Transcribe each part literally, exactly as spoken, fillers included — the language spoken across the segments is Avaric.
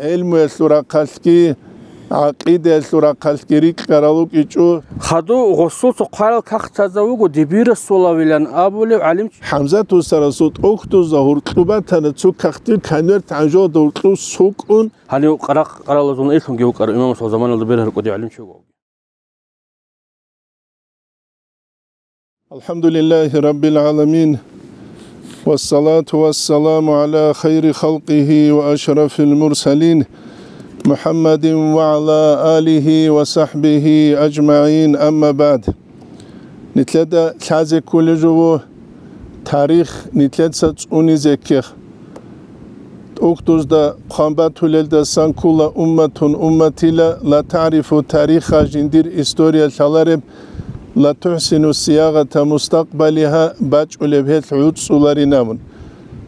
гӀелмуялъул рахъалъги, гӀакъидаялъул рахъалъги рикӀкӀарал рукӀичӀо. Хадув гъосул цо хъварал кагътазда вуго Дибирасулавилан абулев гӀалимчи. ХӀамзат устарасул тӀохьдузда гьуркьуб батана, цо кагътил конверт гӀанжолда гьуркьуб сукӀун. Гьанив къаракъ-къаралазул илъунги вукӀарав имамасул заманалда бергьарав кӀудияв гӀалимчи вуго. الحمد لله رب العالمين، والصلاة والسلام على خير خلقه وأشرف المرسلين محمد وعلى آله وصحبه أجمعين، أما بعد. Нилъеда лъазе кколеб жо тарих, нилъеца цӀунизе ккех. ТӀухьдузда хъван батулелдасан ккола: أمة أمتي لا تعرف تاريخها, жиндир история лъалареб, لا تحسن صياغة مستقبلها, бачӀулеб гьелъ гӀуцӀцӀуларин абун.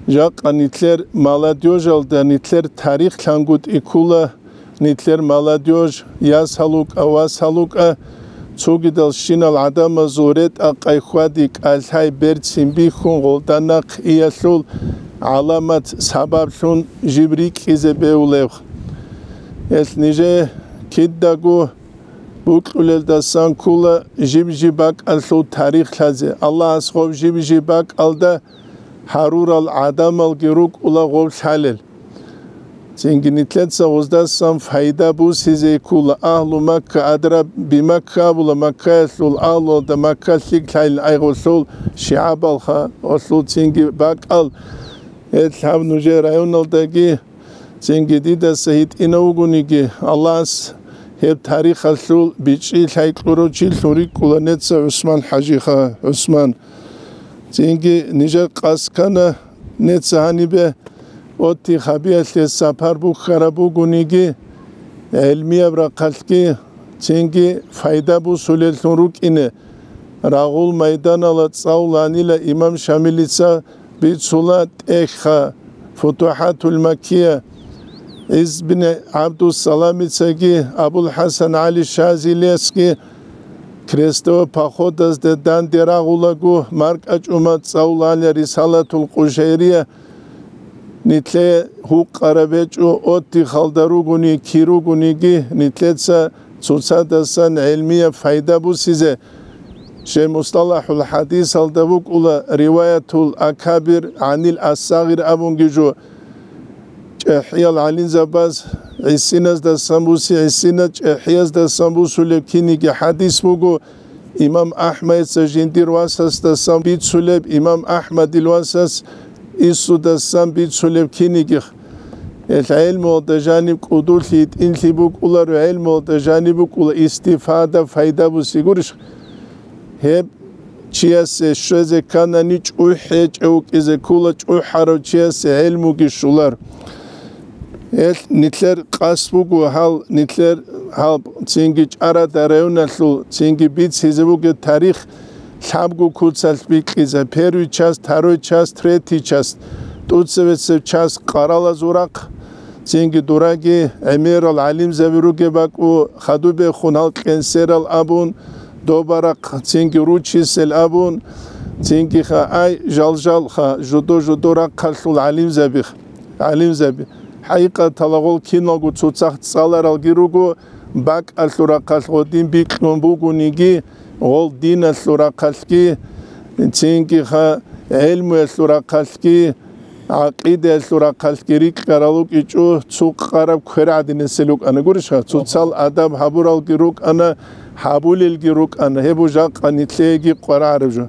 Жакъа нилъер молодёжалда нилъер тарих лъангутӀи ккола, нилъер молодёжь, ясал вукӀа, васал вукӀа, цогидал щинал гӀадамазул ретӀа-къай хьвади кӀалъай берцин бихьун гъолда нахъ иялъул гӀаламат сабаблъун жиб рикӀкӀизе бегьулеб. Гьелъ нижее кидаго букьулелдасан ккола жиб-жиб бакӀалъул тарих лъазе. Аллагьас гъоб жиб-жиб бакӀалда гьарурал гӀадамалги рукӀула гъоб лъалел. Цинги нилъеца гъоздасан пайда бусизе ккола. أهل مكة أدرى بمكة абула, Маккаялъул агьлуялда Макка лъикӀ лъайилан айгъулъул, шигӀабалха гъолъул цинги бакӀал. Гьелъ гьаб нужер районалдаги цинги дидаса гьитӀинав вугониги, Аллагьас гьеб тарихалъул бичӀчӀи лъай кьурав чилъун рикӀкӀула неца ГӀусман ХӀажиха, ГӀусман. Цинги нижер къасд ккана неца гьанибе отти хабиялъе сапар бухьараб бугониги, гӀелмияб рахъалъги цинги пайда бусулеллъун рукӀине. Рагъул майданала цӀалуланила имам Шамилица бицула тӀехьха, Футухатул Маккия, ГӀиз бин ГӀабдуссаламицаги, Абул ХӀасан ГӀали Шазилиясги, крестовый походазде данде рагъулаго, маркӀачӀумал цӀалуланила Рисалатул Къушайрия. Нилъее гьукъараб гьечӀо, отдыхалда ругони, кир ругониги, нилъеца цоцадасан гӀелмияб пайда бусизе. Жей мусталахӀул хӀадисалда вукӀула риваятул акабир гӀанил ассагъир абунги жо. ЧӀехӀиял гӀалимзабаз гӀисиназдасан буси гӀисина, чӀехӀияздасан бусулеб киниги хӀадис буго. Имам АхӀмадица жиндир васасдасан бицулеб, имам АхӀмадил васас Исудасан бицулеб кинигих. Гьелъ гӀелмуялда жаниб кӀудулъи, йитӀинлъи букӀуларо, гӀелмуялда жаниб букӀула истифада, пайда буси гурищ? Гьеб чиясе щвезе кканани чӀухӀ гьечӀев вукӀизе ккола, чӀухӀарав чиясе гӀелмуги щолар. Гьелъ нилъер къасд буго гьал, нилъер гьал цинги ЧӀарада районалъул цинги бицлъизе бугеб тарих лъабго куцалъ бикьизе: первый часть, второй часть, третий часть, тӀоцебесеб часть къаралазул рахъ, цинги дураги гӀемерал гӀалимзаби ругеб бакӀу, хадубехун гьал кьенсерал абун, добарахъ, цинги ручисел абун, цинги ха-, ай, жал-жал ха, жудо-жудо рахъалъул гӀалимзаби, гӀалимзаби. ХӀакъикъаталда гъол киналго цоцахъ цӀаларалги руго, бакӀалъул рахъалъ гъодин бикьун бугониги, гъол диналъул рахъалъги, цинги ха-, гӀелмуялъул рахъалъги, гӀакъидаялъул рахъалъги рикӀкӀарал рукӀичӀо, цо къараб квер гӀадинасел рукӀана, гурищха, цоцал адаб гьабуралги рукӀана, гьабулелги рукӀана, гьеб жакъа нилъееги къварагӀараб жо.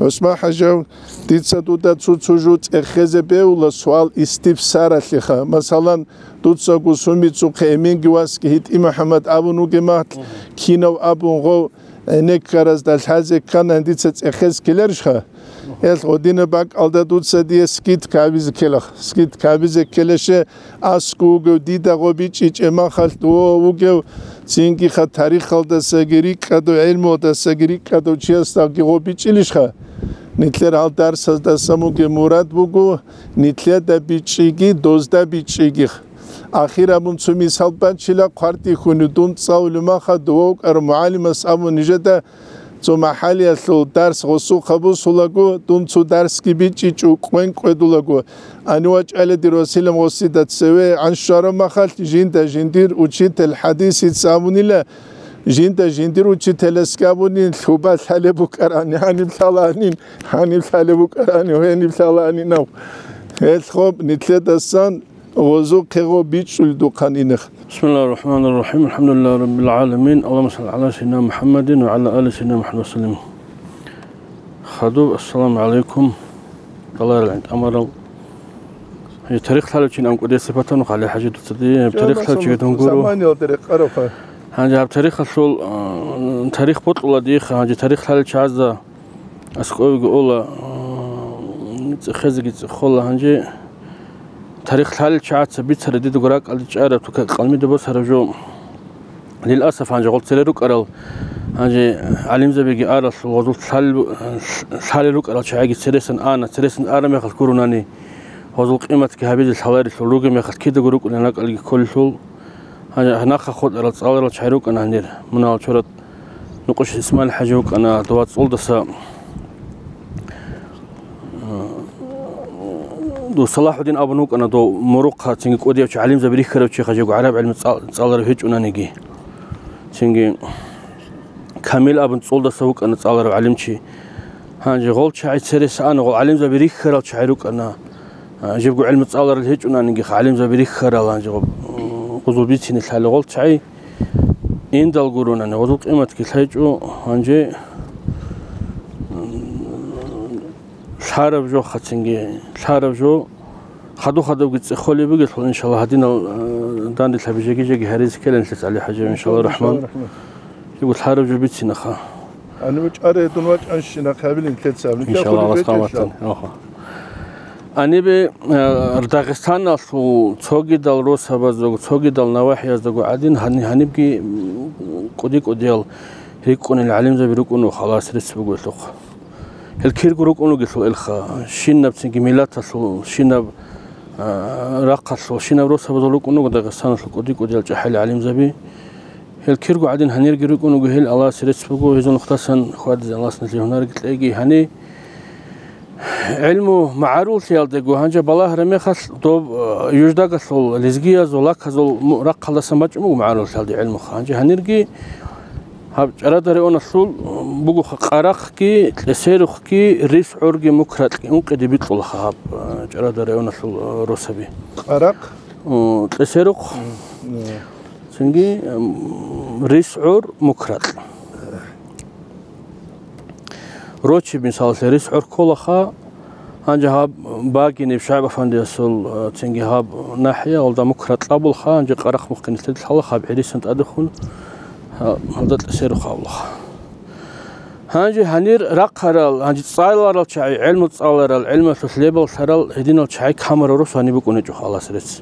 ГӀусман ХӀажав, дица дуда цо-цо жо цӀехезе бегьула суал истифсаралъеха. Масалан, дуцаго сумицухъе эменги васги ГьитӀи МухӀаммад абун вугеб махалъ, кинав абун гъов гӀенеккаразда лъазе ккани, дица цӀехез ккеларищха? Гьелъ гъодинаб бакӀалда дуца дие скидка гьабизе ккелаха. Скидка гьабизе ккелаще, аскӀов вугев, дида гъо бичӀчӀичӀеб махалъ дов вугев, цинги ха тарихалдасаги рикӀкӀадав, гӀелмуялдасаги рикӀкӀадав чиясдаги гъо бичӀчӀилищха? Нилъер гьал дарсаздасан бугеб мурад буго, нилъеда бичӀчӀиги, дозда бичӀчӀиги. Ахир абун цо мисал бачила, хъвартихьуни дун цӀалулев махалъ дов вукӀарав мугӀалимас абун нижеда Цо махӀалиялъул дарс гъосухъа бусулаго, дун цо дарсги бичӀчӀичӀо, кӀвен кӀведулаго, ани вачӀайла дир василан гъосида цеве гӀан щвараб махалъ, жинда жиндир учитель хӀадисица абунила, жинда жиндир учителасги абунин, лъуба лъалеб букӀарани, гьаниб лъалаанин, гьаниб лъалеб букӀарани, гьениб лъалаанинав. Гьелъ гъоб нилъедасан гъозухъего бичӀчӀулдухъан инех. بسم الله الرحمن الرحيم. الحمد لله رب العالمين. اللهم صل على سيدنا محمد وعلى آل سيدنا محمد وسلم. Хадуб, ассаламу гӀалайкум. Даларал гӀинтӀамарал. Гье, тарих лъалев чи ан кӀудиясеб батану хъали хӀажи дуцади. Гьеб тарих лъалев чиги дунгуру. Гьанже гьаб тарихалъул, а, тарих бокьула диха, гьанже тарих лъалев чагӀазда аскӀовеги ола, а, цӀехезеги цӀехола. Гьанже тарих лъалел чагӀаца бицарай дидаго ракӀалде чӀараб тука къалмида босараб жо. Лиласаф, гьанже гъол цере рукӀарал, гьанже гӀалимзабиги аралъул гъозул лъал-, лъалел рукӀарал чагӀиги цересан ана, цересан араб мехалъ гурунани, гъозул къиматги гьабизе лъаларелъул ругеб мехалъ кидаго рукӀунел ракӀалги кколелъул. Гьанже нахъа хутӀарал цӀаларал чагӀи рукӀана гьанир. Мунагьал чорат Нукъуш Исмаил хӀажи вукӀана, дова цӀолдаса, дов Салахудин абун вукӀана, дов мурухъа, цинги кӀудияв чи, гӀалимзаби рихьарав чи, хажего гӀараб гӀилму цӀал-, цӀаларав гьечӀонаниги. Цинги Камил абун цӀолдаса вукӀана цӀаларав гӀалимчи. Гьанже гъол чагӀи церес ана, гъол гӀалимзаби рихьарал чагӀи рукӀана. А, жибго гӀилму цӀаларал гьечӀонаниги, гӀалимзаби рихьарал, гьанже гъоб, м, гъузул бицине лъала гъол чагӀи индал гуронани, гъузул къиматги лъайчӀо, гьанже, м, лъараб жо хъацинги, лъараб жо, хаду-хадубги цӀехолеб бугелъул, иншалла, гьадинал, а, данделъаби жеги-жеги гьаризе ккеланлъи ГӀали хӀажи, иншалла, рахман. Жибго лъараб жо бицинаха. Гьанибе чӀаре дун вачӀанщина хъабилин лъецаб. Иншалла, Аллагьас къаматан. Оха. Гьанибе, э, Дагъистаналъул цогидал росабаздаго, цогидал навахӀияздаго гӀадин, гьани-, гьанибги, м, кӀуди-кӀудиял рикӀкӀунел гӀалимзаби рукӀуна халас рецц бугелъухъ. Гьел кирго рукӀун ругелъул элха, щинабцинги миллаталъул, щинаб, э, рахъалъул, щинаб росабазул рукӀун руго Дагъистаналъул кӀуди-кӀудиял чӀахӀел гӀалимзаби. Гьел кирго гӀадин гьанирги рукӀун руго, гьел Аллагьасе рецц буго, гьезул нухдасан хьвадизе Аллагьас нилъее гьунарги кьеги. Гьани гӀилму магӀаруллъиялдего гьанже балагьараб мехалъ, доб, э, юждагалъул лезгиязул, лаказул му-, рахъалдасан бачӀун буго магӀаруллъиялде гӀилмуха. Гьанже гьанирги гьаб ЧӀарада районалъул бугоха Къарахъги, Кьесерухъги, РисгӀурги, Мукракьги, ункъиде бикьулаха гьаб, э, ЧӀарада районалъул, э, росаби. Къарахъ? О, Кьесерухъ. М, м. Цинги, м, РисгӀур, Мукракь. Рочи, мисалалъе, РисгӀур кколаха, гьанже гьаб Багиниб ШагӀиб-афандиясул, э, цинги гьаб нахӀиялда Мукракь абулха, гьанже Къарахъ мухъги нилъеда лъалаха, гьаб гӀирисан тӀадехун, гьа-, гьалда Кьесерухъ абулха. Гьанже гьанир рахъарал, гьанже цӀаларал чагӀи, гӀелму цӀаларал, гӀелмалъулъ лебаллъарал гьединал чагӀи камурал росу гьаниб букӀунечӀо, халас рецц.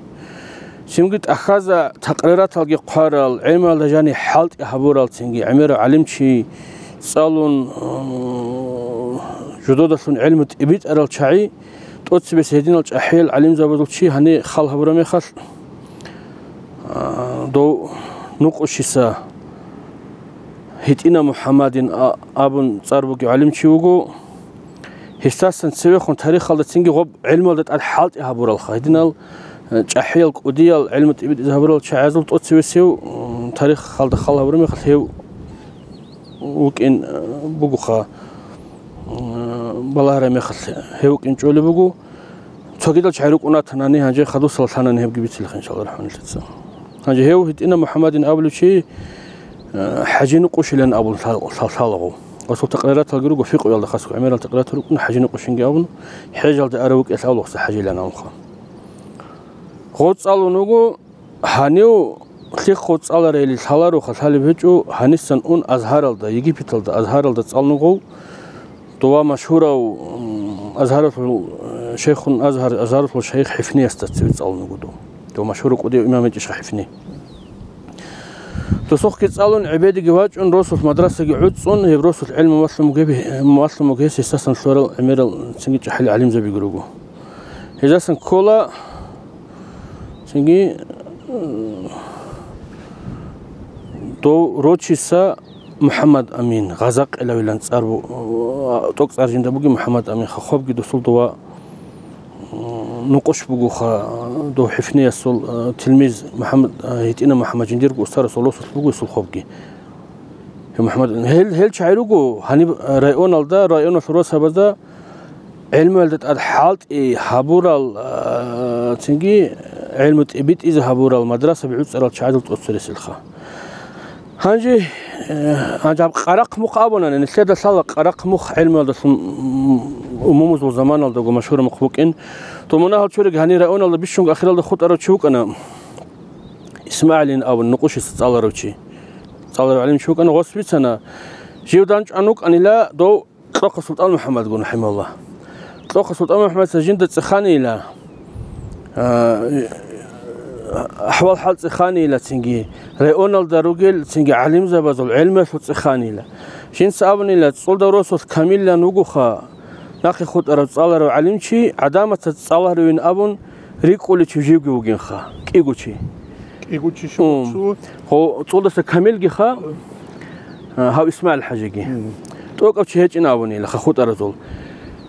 Цинги тӀахьаза такърираталги хъварал, гӀемералда жани хӀалтӀи гьабурал, цинги гӀемерав гӀалимчи цӀалун, э, жудодалъун гӀелму тӀибитӀарал чагӀи, тӀоцебесеб гьединал чӀахӀиял гӀалимзабазул чи гьани хал гьабураб мехалъ, а, дов Нукъушиса ГьитӀина МухӀаммадин а-, абун цӀар бугев гӀалимчи вуго. Гьесдасан цевехун тарихалда цинги гъоб гӀелмалда тӀад хӀалтӀи гьабуралха. Гьединал, э, чӀахӀиял, кӀудиял гӀелму тӀибитӀизе гьабурал чагӀазул тӀоцевесев, м, тарихалда хал гьабураб мехалъ гьев вукӀин, э, бугоха, м, балагьараб мехалъ гьев вукӀин чӀолеб буго. Цогидал чагӀи рукӀун ратанани, гьанже хадусала лъанани гьебги бицилха, иншалла, рахӀманилъица. Гьанже гьев ГьитӀина МухӀаммадин абулев чи, э, ХӀажи Нукъушилан абун лъал-, лъал-, лъалагъов. Гъосул такърираталги руго, фикъуялда хасго гӀемерал такъриратал рукӀуна, ХӀажи Нукъушинги абун, хӀежалде ара вукӀелъ авлахъса ХӀажилан абунха. Гъо цӀалун вуго, гьанив лъихъо цӀаларайили лъалароха лъалеб гьечӀо, гьанисан ун Азгьаралда, Египеталда, Азгьаралда цӀалун гъов, дова машгьурав, м, Азгьаралъул, э, шейхун Азгьар, Азгьаралъул шейх ХӀифниясда цеве цӀалун вуго дов. Дов машгьурав кӀудияв имам гьечӀищха ХӀифни. Досухъги цӀалун, гӀебедиги вачӀун, росулъ мадрасаги гӀуцӀцӀун, гьеб росулъ гӀелму малъун бугеб-, малъун буго гьес гьесдасан лъурал гӀемерал цинги чӀахӀел гӀалимзабиги руго. Гьезасан ккола цинги, м, дов рочиса МухӀаммад Амин, Гъазакъилавилан цӀар бу-, тӀокӀцӀар жинда бугин МухӀаммад Амин, хохобги досул дова, м, нукъуш бугоха, дов хӀифниясул, э, тилмиз МухӀаммад, э, гьитӀина МухӀаммад жиндирго устарасул росулъ буго исул хобги. Гьев МухӀаммад, гьел, гьел чагӀи руго, гьаниб районалда, районалъул росабазда гӀелмуялда тӀад хӀалтӀи гьабурал, а, цинги гӀелму тӀибитӀизе гьабурал мадрасаби гӀуцӀарал чагӀазул тӀоцереселха. Гьанже, э, гьанже гьаб Къарахъ мухъ абунани, нилъеда лъала Къарахъ мухъ гӀелмуялдалъун, м, умумузул заманалдаго машгьураб мухъ букӀин. То мунагьал чуриги гьанир районалда бищунго ахиралда хутӀарав чи вукӀана, ИсмагӀилин абун, нукъушиса цӀаларав чи. ЦӀаларав гӀалим чи вукӀана, гъос бицана, жив данчӀван вукӀанила дов Кьохъа СултӀан МухӀаммадгун, рахӀимагьуллагь. Кьохъа СултӀан МухӀаммадица жинда цӀеханила, а, ахӀвал-хӀал цӀеханила цинги, районалда ругел цинги гӀалимзабазул гӀелмуялъул цӀеханила. Жинца абунила, цӀолдав росулъ камиллан вугоха, нахъе хутӀарав цӀаларав гӀалимчи, гӀадамаца цӀаларавин абун, рикӀкӀулев чи живги вугинха, кӀиго чи. КӀиго чи. Ум. Щуго? Гьо, цӀолдаса камилгиха, а, гьав ИсмагӀил-хӀажиги. Мгм. ТӀокӀав чи гьечӀин абунила хутӀаразул.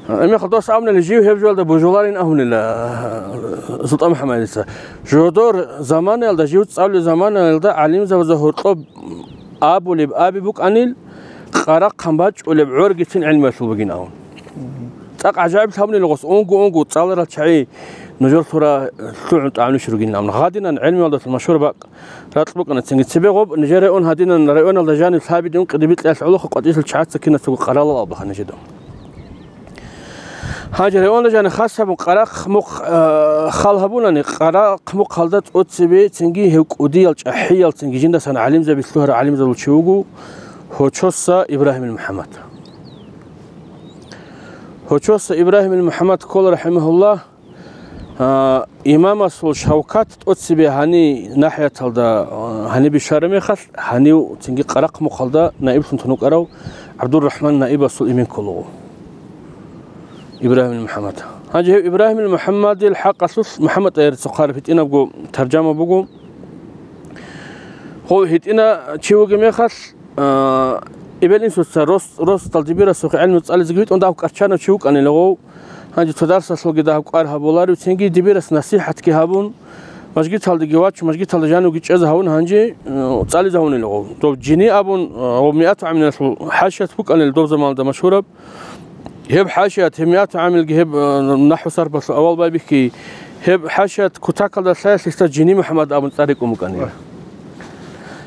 А, гьебмехалда дос абунила, жив гьеб жоялда божуларин абунила, а, СултӀан МухӀаммадица. Жодор заманаялда, жив цӀалулеб заманаялда гӀалимзабазда гьоркьоб абулеб аби букӀанил, Къарахъан бачӀулеб гӀоргицин гӀелмуялъул бугин абун. Мгм. ЦӀакъ гӀажаиблъи гьабунила гъос, унго-унго цӀаларал чагӀи нужер лъура лъугӀун тӀагӀунищ ругин абун. Гьадинан гӀелмуялдалъун машгьур бакъ ракь букӀана цинги. Цебе гъоб нижер район гьадинан районалда жаниб лъабиде ункъиде бикьиялъ гӀолохъа къватӀиялъул чагӀаца киназго къаралал абулаха нижеда. Гьанже районда жаниб хас гьабун Къарахъ мухъ, а, хал гьабунани, Къарахъ мухъалда тӀоцебе цинги гьев кӀудиял чӀахӀиял цинги жиндасан гӀалимзаби лъугьарал гӀалимзабул чи вуго Гьочоса Ибрагьимил МухӀаммад. Гьочоса Ибрагьимил МухӀаммад ккола, рахӀимагьуллагь, а, имамасул шавкат тӀоцебе гьани нахӀияталда, а, гьаниб бищараб мехалъ, гьанив цинги Къарахъ мухъалда наиблъун тун вукӀарав ГӀабдуррахӀман наибасул имин кколаго. Ибрагьимил МухӀаммад. Гьанже гьев Ибрагьимил МухӀаммадил хӀакъалъулъ МухӀаммад ТӀагьирица хъвараб гьитӀинабго таржама буго. Гьев гьитӀина чи вугеб мехалъ, а, эбел-инсуца рос-, росдал дибирасухъе гӀелму цӀализеги витӀун дагь кӀарчанав чи вукӀанила гъов. Гьанже цо дарсалъулги дагь кӀвар гьабуларев, цинги дибирас насихӀатги гьабун, мажгиталдеги вачун, мажгиталда жанивги чӀезе гьавун, гьанже, а, цӀализе гьавунила гъов. Дов Жини абун, а, гъов миату гӀаминалъул хӀашият букӀанила дов заманалда машгьураб. Гьеб хӀашият, гьеб миату гӀамилги, гьеб, э, нахӀву сарфалъул авал байбихьи, гьеб хӀашият кутакалда лъаялъ гьесда Жини МухӀаммад абун цӀар рекӀун букӀанила.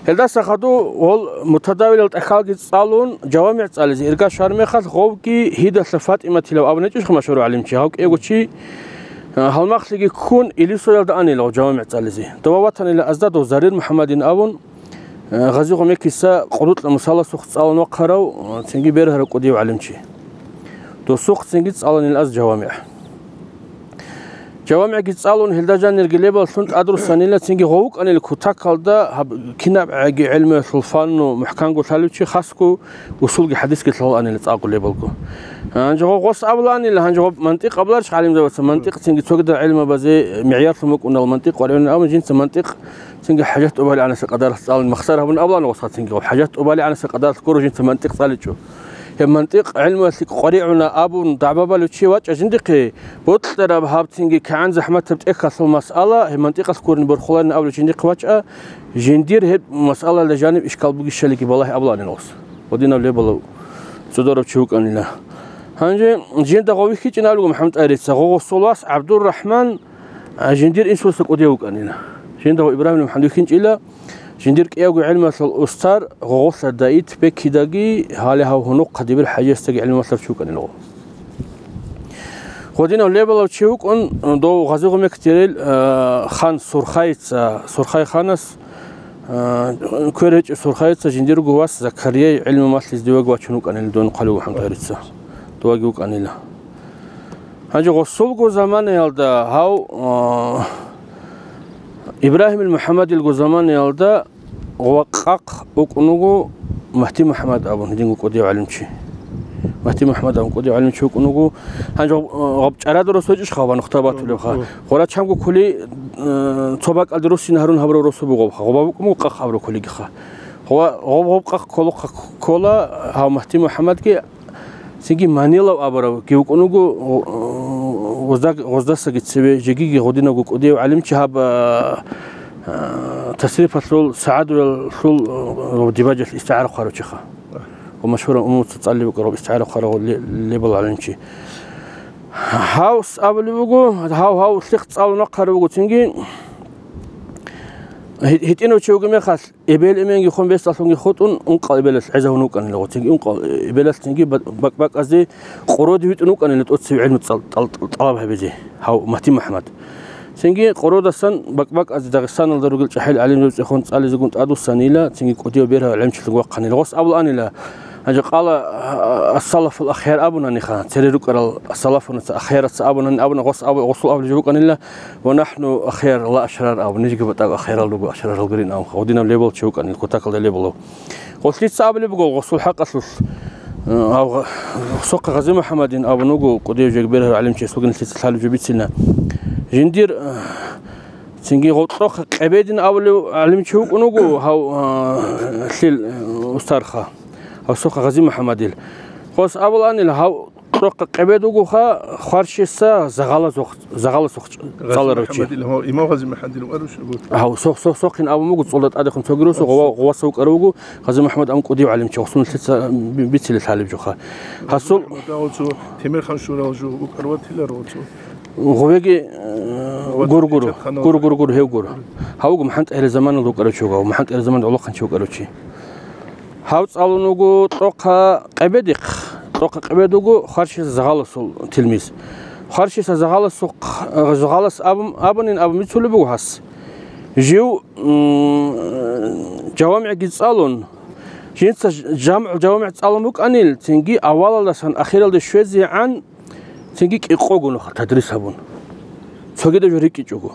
Гьелдаса хадув гъол мутадавилал тӀахьалги цӀалун, жавамигӀ цӀализе ирга щвараб мехалъ, гъовги Гьидалъа ФатӀиматилав абун гьечӀищха машгьурав гӀалимчи, гьав кӀиявго чи, э, гьалмагълъиги ккун, Илисоялда анила гъов жавамигӀ цӀализе. Дова ватанила азда дов Зарир МухӀаммадин абун, Гъази-Гъумекиса къуллукьа мусаласухъ цӀалун вахъарав, цинги бергьарав кӀудияв гӀалимчи. Досухъ цинги цӀаланил аз жавамигӀ. ЖавамигӀги цӀалун, гьелда жанирги лебаллъун тӀадруссанила, цинги гъов вукӀанил кутакалда гьаб кинаб гӀаги гӀелмуялъул фанну мухӀканго лъалев чи, хасго усулги хӀадисги лъалаанила цӀакъго лебалго. Гьанже гъов гъос абулаанила, гьанже гъоб мантикъ абуларищ гӀалимзабаца, мантикъ цинги цогидал гӀелмабазе мигӀярлъун букӀунал мантикъ варигӀунин абун, жинца мантикъ Цинги хӀажат тӀубали гӀанаса къадаралъ цӀалин махсар гьабун абулаан гъосха цинги гъоб. ХӀажат тӀубали гӀанаса къадаралъ гуро жинца мантикъ цӀаличӀо. Гьеб мантикъ гӀилмуялъе къваригӀуна абун дагӀба балев чи вачӀа жиндихъе, бокьараб гьаб цинги кигӀан захӀматаб тӀехьалъул масъала, гьеб мантикъалъ гурин борхуларин абулев жиндихъе вачӀа, жиндир гьеб масъалаялда жаниб ишкал бугищалиги балагье абулаанин гъос. Гъодинав лебалав цӀударав чи вукӀанила. Гьанже жинда гъов вихьичӀин абулего МухӀаммад ТӀагьирица, гъо-, гъосул вас ГӀабдуррахӀман А, жиндир инсуца кӀудияв вукӀанила. Жинда гъо Ибрагьим МухӀаммад вихьинчӀила, жиндир кӀиявго гӀилмалъул устар гъогъолъа Даит Бекидаги, гьале гьав гьунухъа Дибир ХӀажиясдаги гӀилмалъар чи вукӀанила гъо. Гъодинав лебалав чи вукӀун, дов Гъази-Гъумекдерил, а, хан Сурхайица, Сурхай ханас, а, квер гьечӀев Сурхайица жиндирго вас Закарияй гӀилму малъизе диваги вачун вукӀанила, дун хъалив МухӀаммад ТӀагьирица. Дуваги вукӀанила. Гьанже гъосулго заманаялда гьав, а, Ибрагьимил МухӀаммадилго заманаялда гъва къакъ вукӀун вуго Магьди МухӀаммад абун, гьединго кӀудияв гӀалимчи. Магьди МухӀаммад абун кӀудияв гӀалимчи вукӀун вуго. Гьанже гъаб, гъаб чӀарадул росу гьечӀищха гъаб нухда батулебха? Гъора чамго кули, а, цо бакӀалде руссин гьарун гьабурав росу бугоха. Гъоба букӀун буго къакъ гьабурав кулигиха. Гъо-, гъоб-гъоб къакъ кколохъа ккола гьав Магьти МухӀаммадги, цинги Манилав абурав гьев вукӀун вуго, гъо-, гъозда-, гъоздасаги цеве, жегиги гъодинавго кӀудияв гӀалимчи гьаб, а, а, тасрифалъул, сагӀадуялъул, а, дибажалъ истигӀара хъварав чиха. Ва машгьурав умумуца цӀалулев вукӀарав истигӀара хъварав ле-, лебал гӀалимчи. Гьав с-, абулеб буго, гьав, гьав лъихъ цӀалун вахъарав вуго, цинги гьи-, гьитӀинав чи вугеб мехалъ, эбел-эменги хун бесдалъунги хутӀун, ункъал эбелалъ гӀезавун вукӀанила гъо. Цинги ункъал эбелалъ цинги бак-, бакӀбакӀазде къородие витӀун вукӀанила тӀоцебе гӀилму цӀал-, тӀал-, тӀал-, тӀалаб гьабизе, гьав Магьти МухӀаммад. Цинги къородасан бакӀбакӀазде Дагъистаналда ругел чӀахӀиял гӀалимзабацӀехун цӀализегун тӀадвуссанила, цинги кӀудияв бергьав гӀалимчилъун вахъанила. Гъос абулаанила, гьанже къала, а, а, ас-салафул ахяр абунаниха, цере рукӀарал ас-салафунаца, ахяраца абунани, абуна, гъос абу-, гъосул абулеб жо букӀанила, «Ва нахну ахяр ла ашрар», абун, нижги батӀа ахярал руго, ашрарал гурин абун, гъодинав лебал чи вукӀанила, кутакалда лебалав. Гъолъица абулеб буго гъосул хӀакъалъулъ, э, гьав гъ-, гъосухъа Гъази МухӀаммадин абун вуго, кӀудияв жеги бергьарав гӀалимчиясулгин лъица лъалеб жо бицина. Жиндир, э, цинги гъоркьохъа Къебедин абулев гӀалимчи вукӀун вуго гьав, э, лъил, э, устарха, гъосухъа Гъази МухӀаммадил. Гъос абулаанил гьав Кьокъа къебед вугоха, хварщиса загъаласухъ-, загъаласухъ цӀаларав чи. Гъази МухӀаммадил, гьав, имам Гъази МухӀаммадил вукӀарав чи? Гьав, сох-, сох-, сохин абун буго, цӀолда тӀадехун цогируса, гъова-, гъоваса вукӀарав вуго, Гъази МухӀаммад абун кӀудияв гӀалимчи, гъосун лъица би-, бицилел лъалеб жоха. Гьасул Гъази МухӀаммад гьав цо Темирхан шурал жо вукӀарав ватиларо цо. Гъовеги, э, Гъова гур-, гур-, Чачаханал гур-, гур-, гур-, гьев гур. Гьав вуго МухӀаммад ТӀагьир заманалда вукӀарав чи вуго, МухӀаммад ТӀагьир заманалда гӀолохъанчи вукӀарав чи. Гьав цӀалун вуго Кьокъа Къебедихъ. Кьокъа Къебед вуго Хварщиса Загъаласул тилмиз. Хварщиса Загъаласухъ-, Загъалас абун, абунин абун бицулеб буго гьас. Жив, м, жавамигӀги цӀалун, жинца ж-, жамгӀул жавамигӀ цӀалун букӀанил, цинги авалалдасан ахиралде щвезегӀан, цинги кӀикъого нуха тадрис гьабун. Цогидаб жо рикӀкӀичӀого.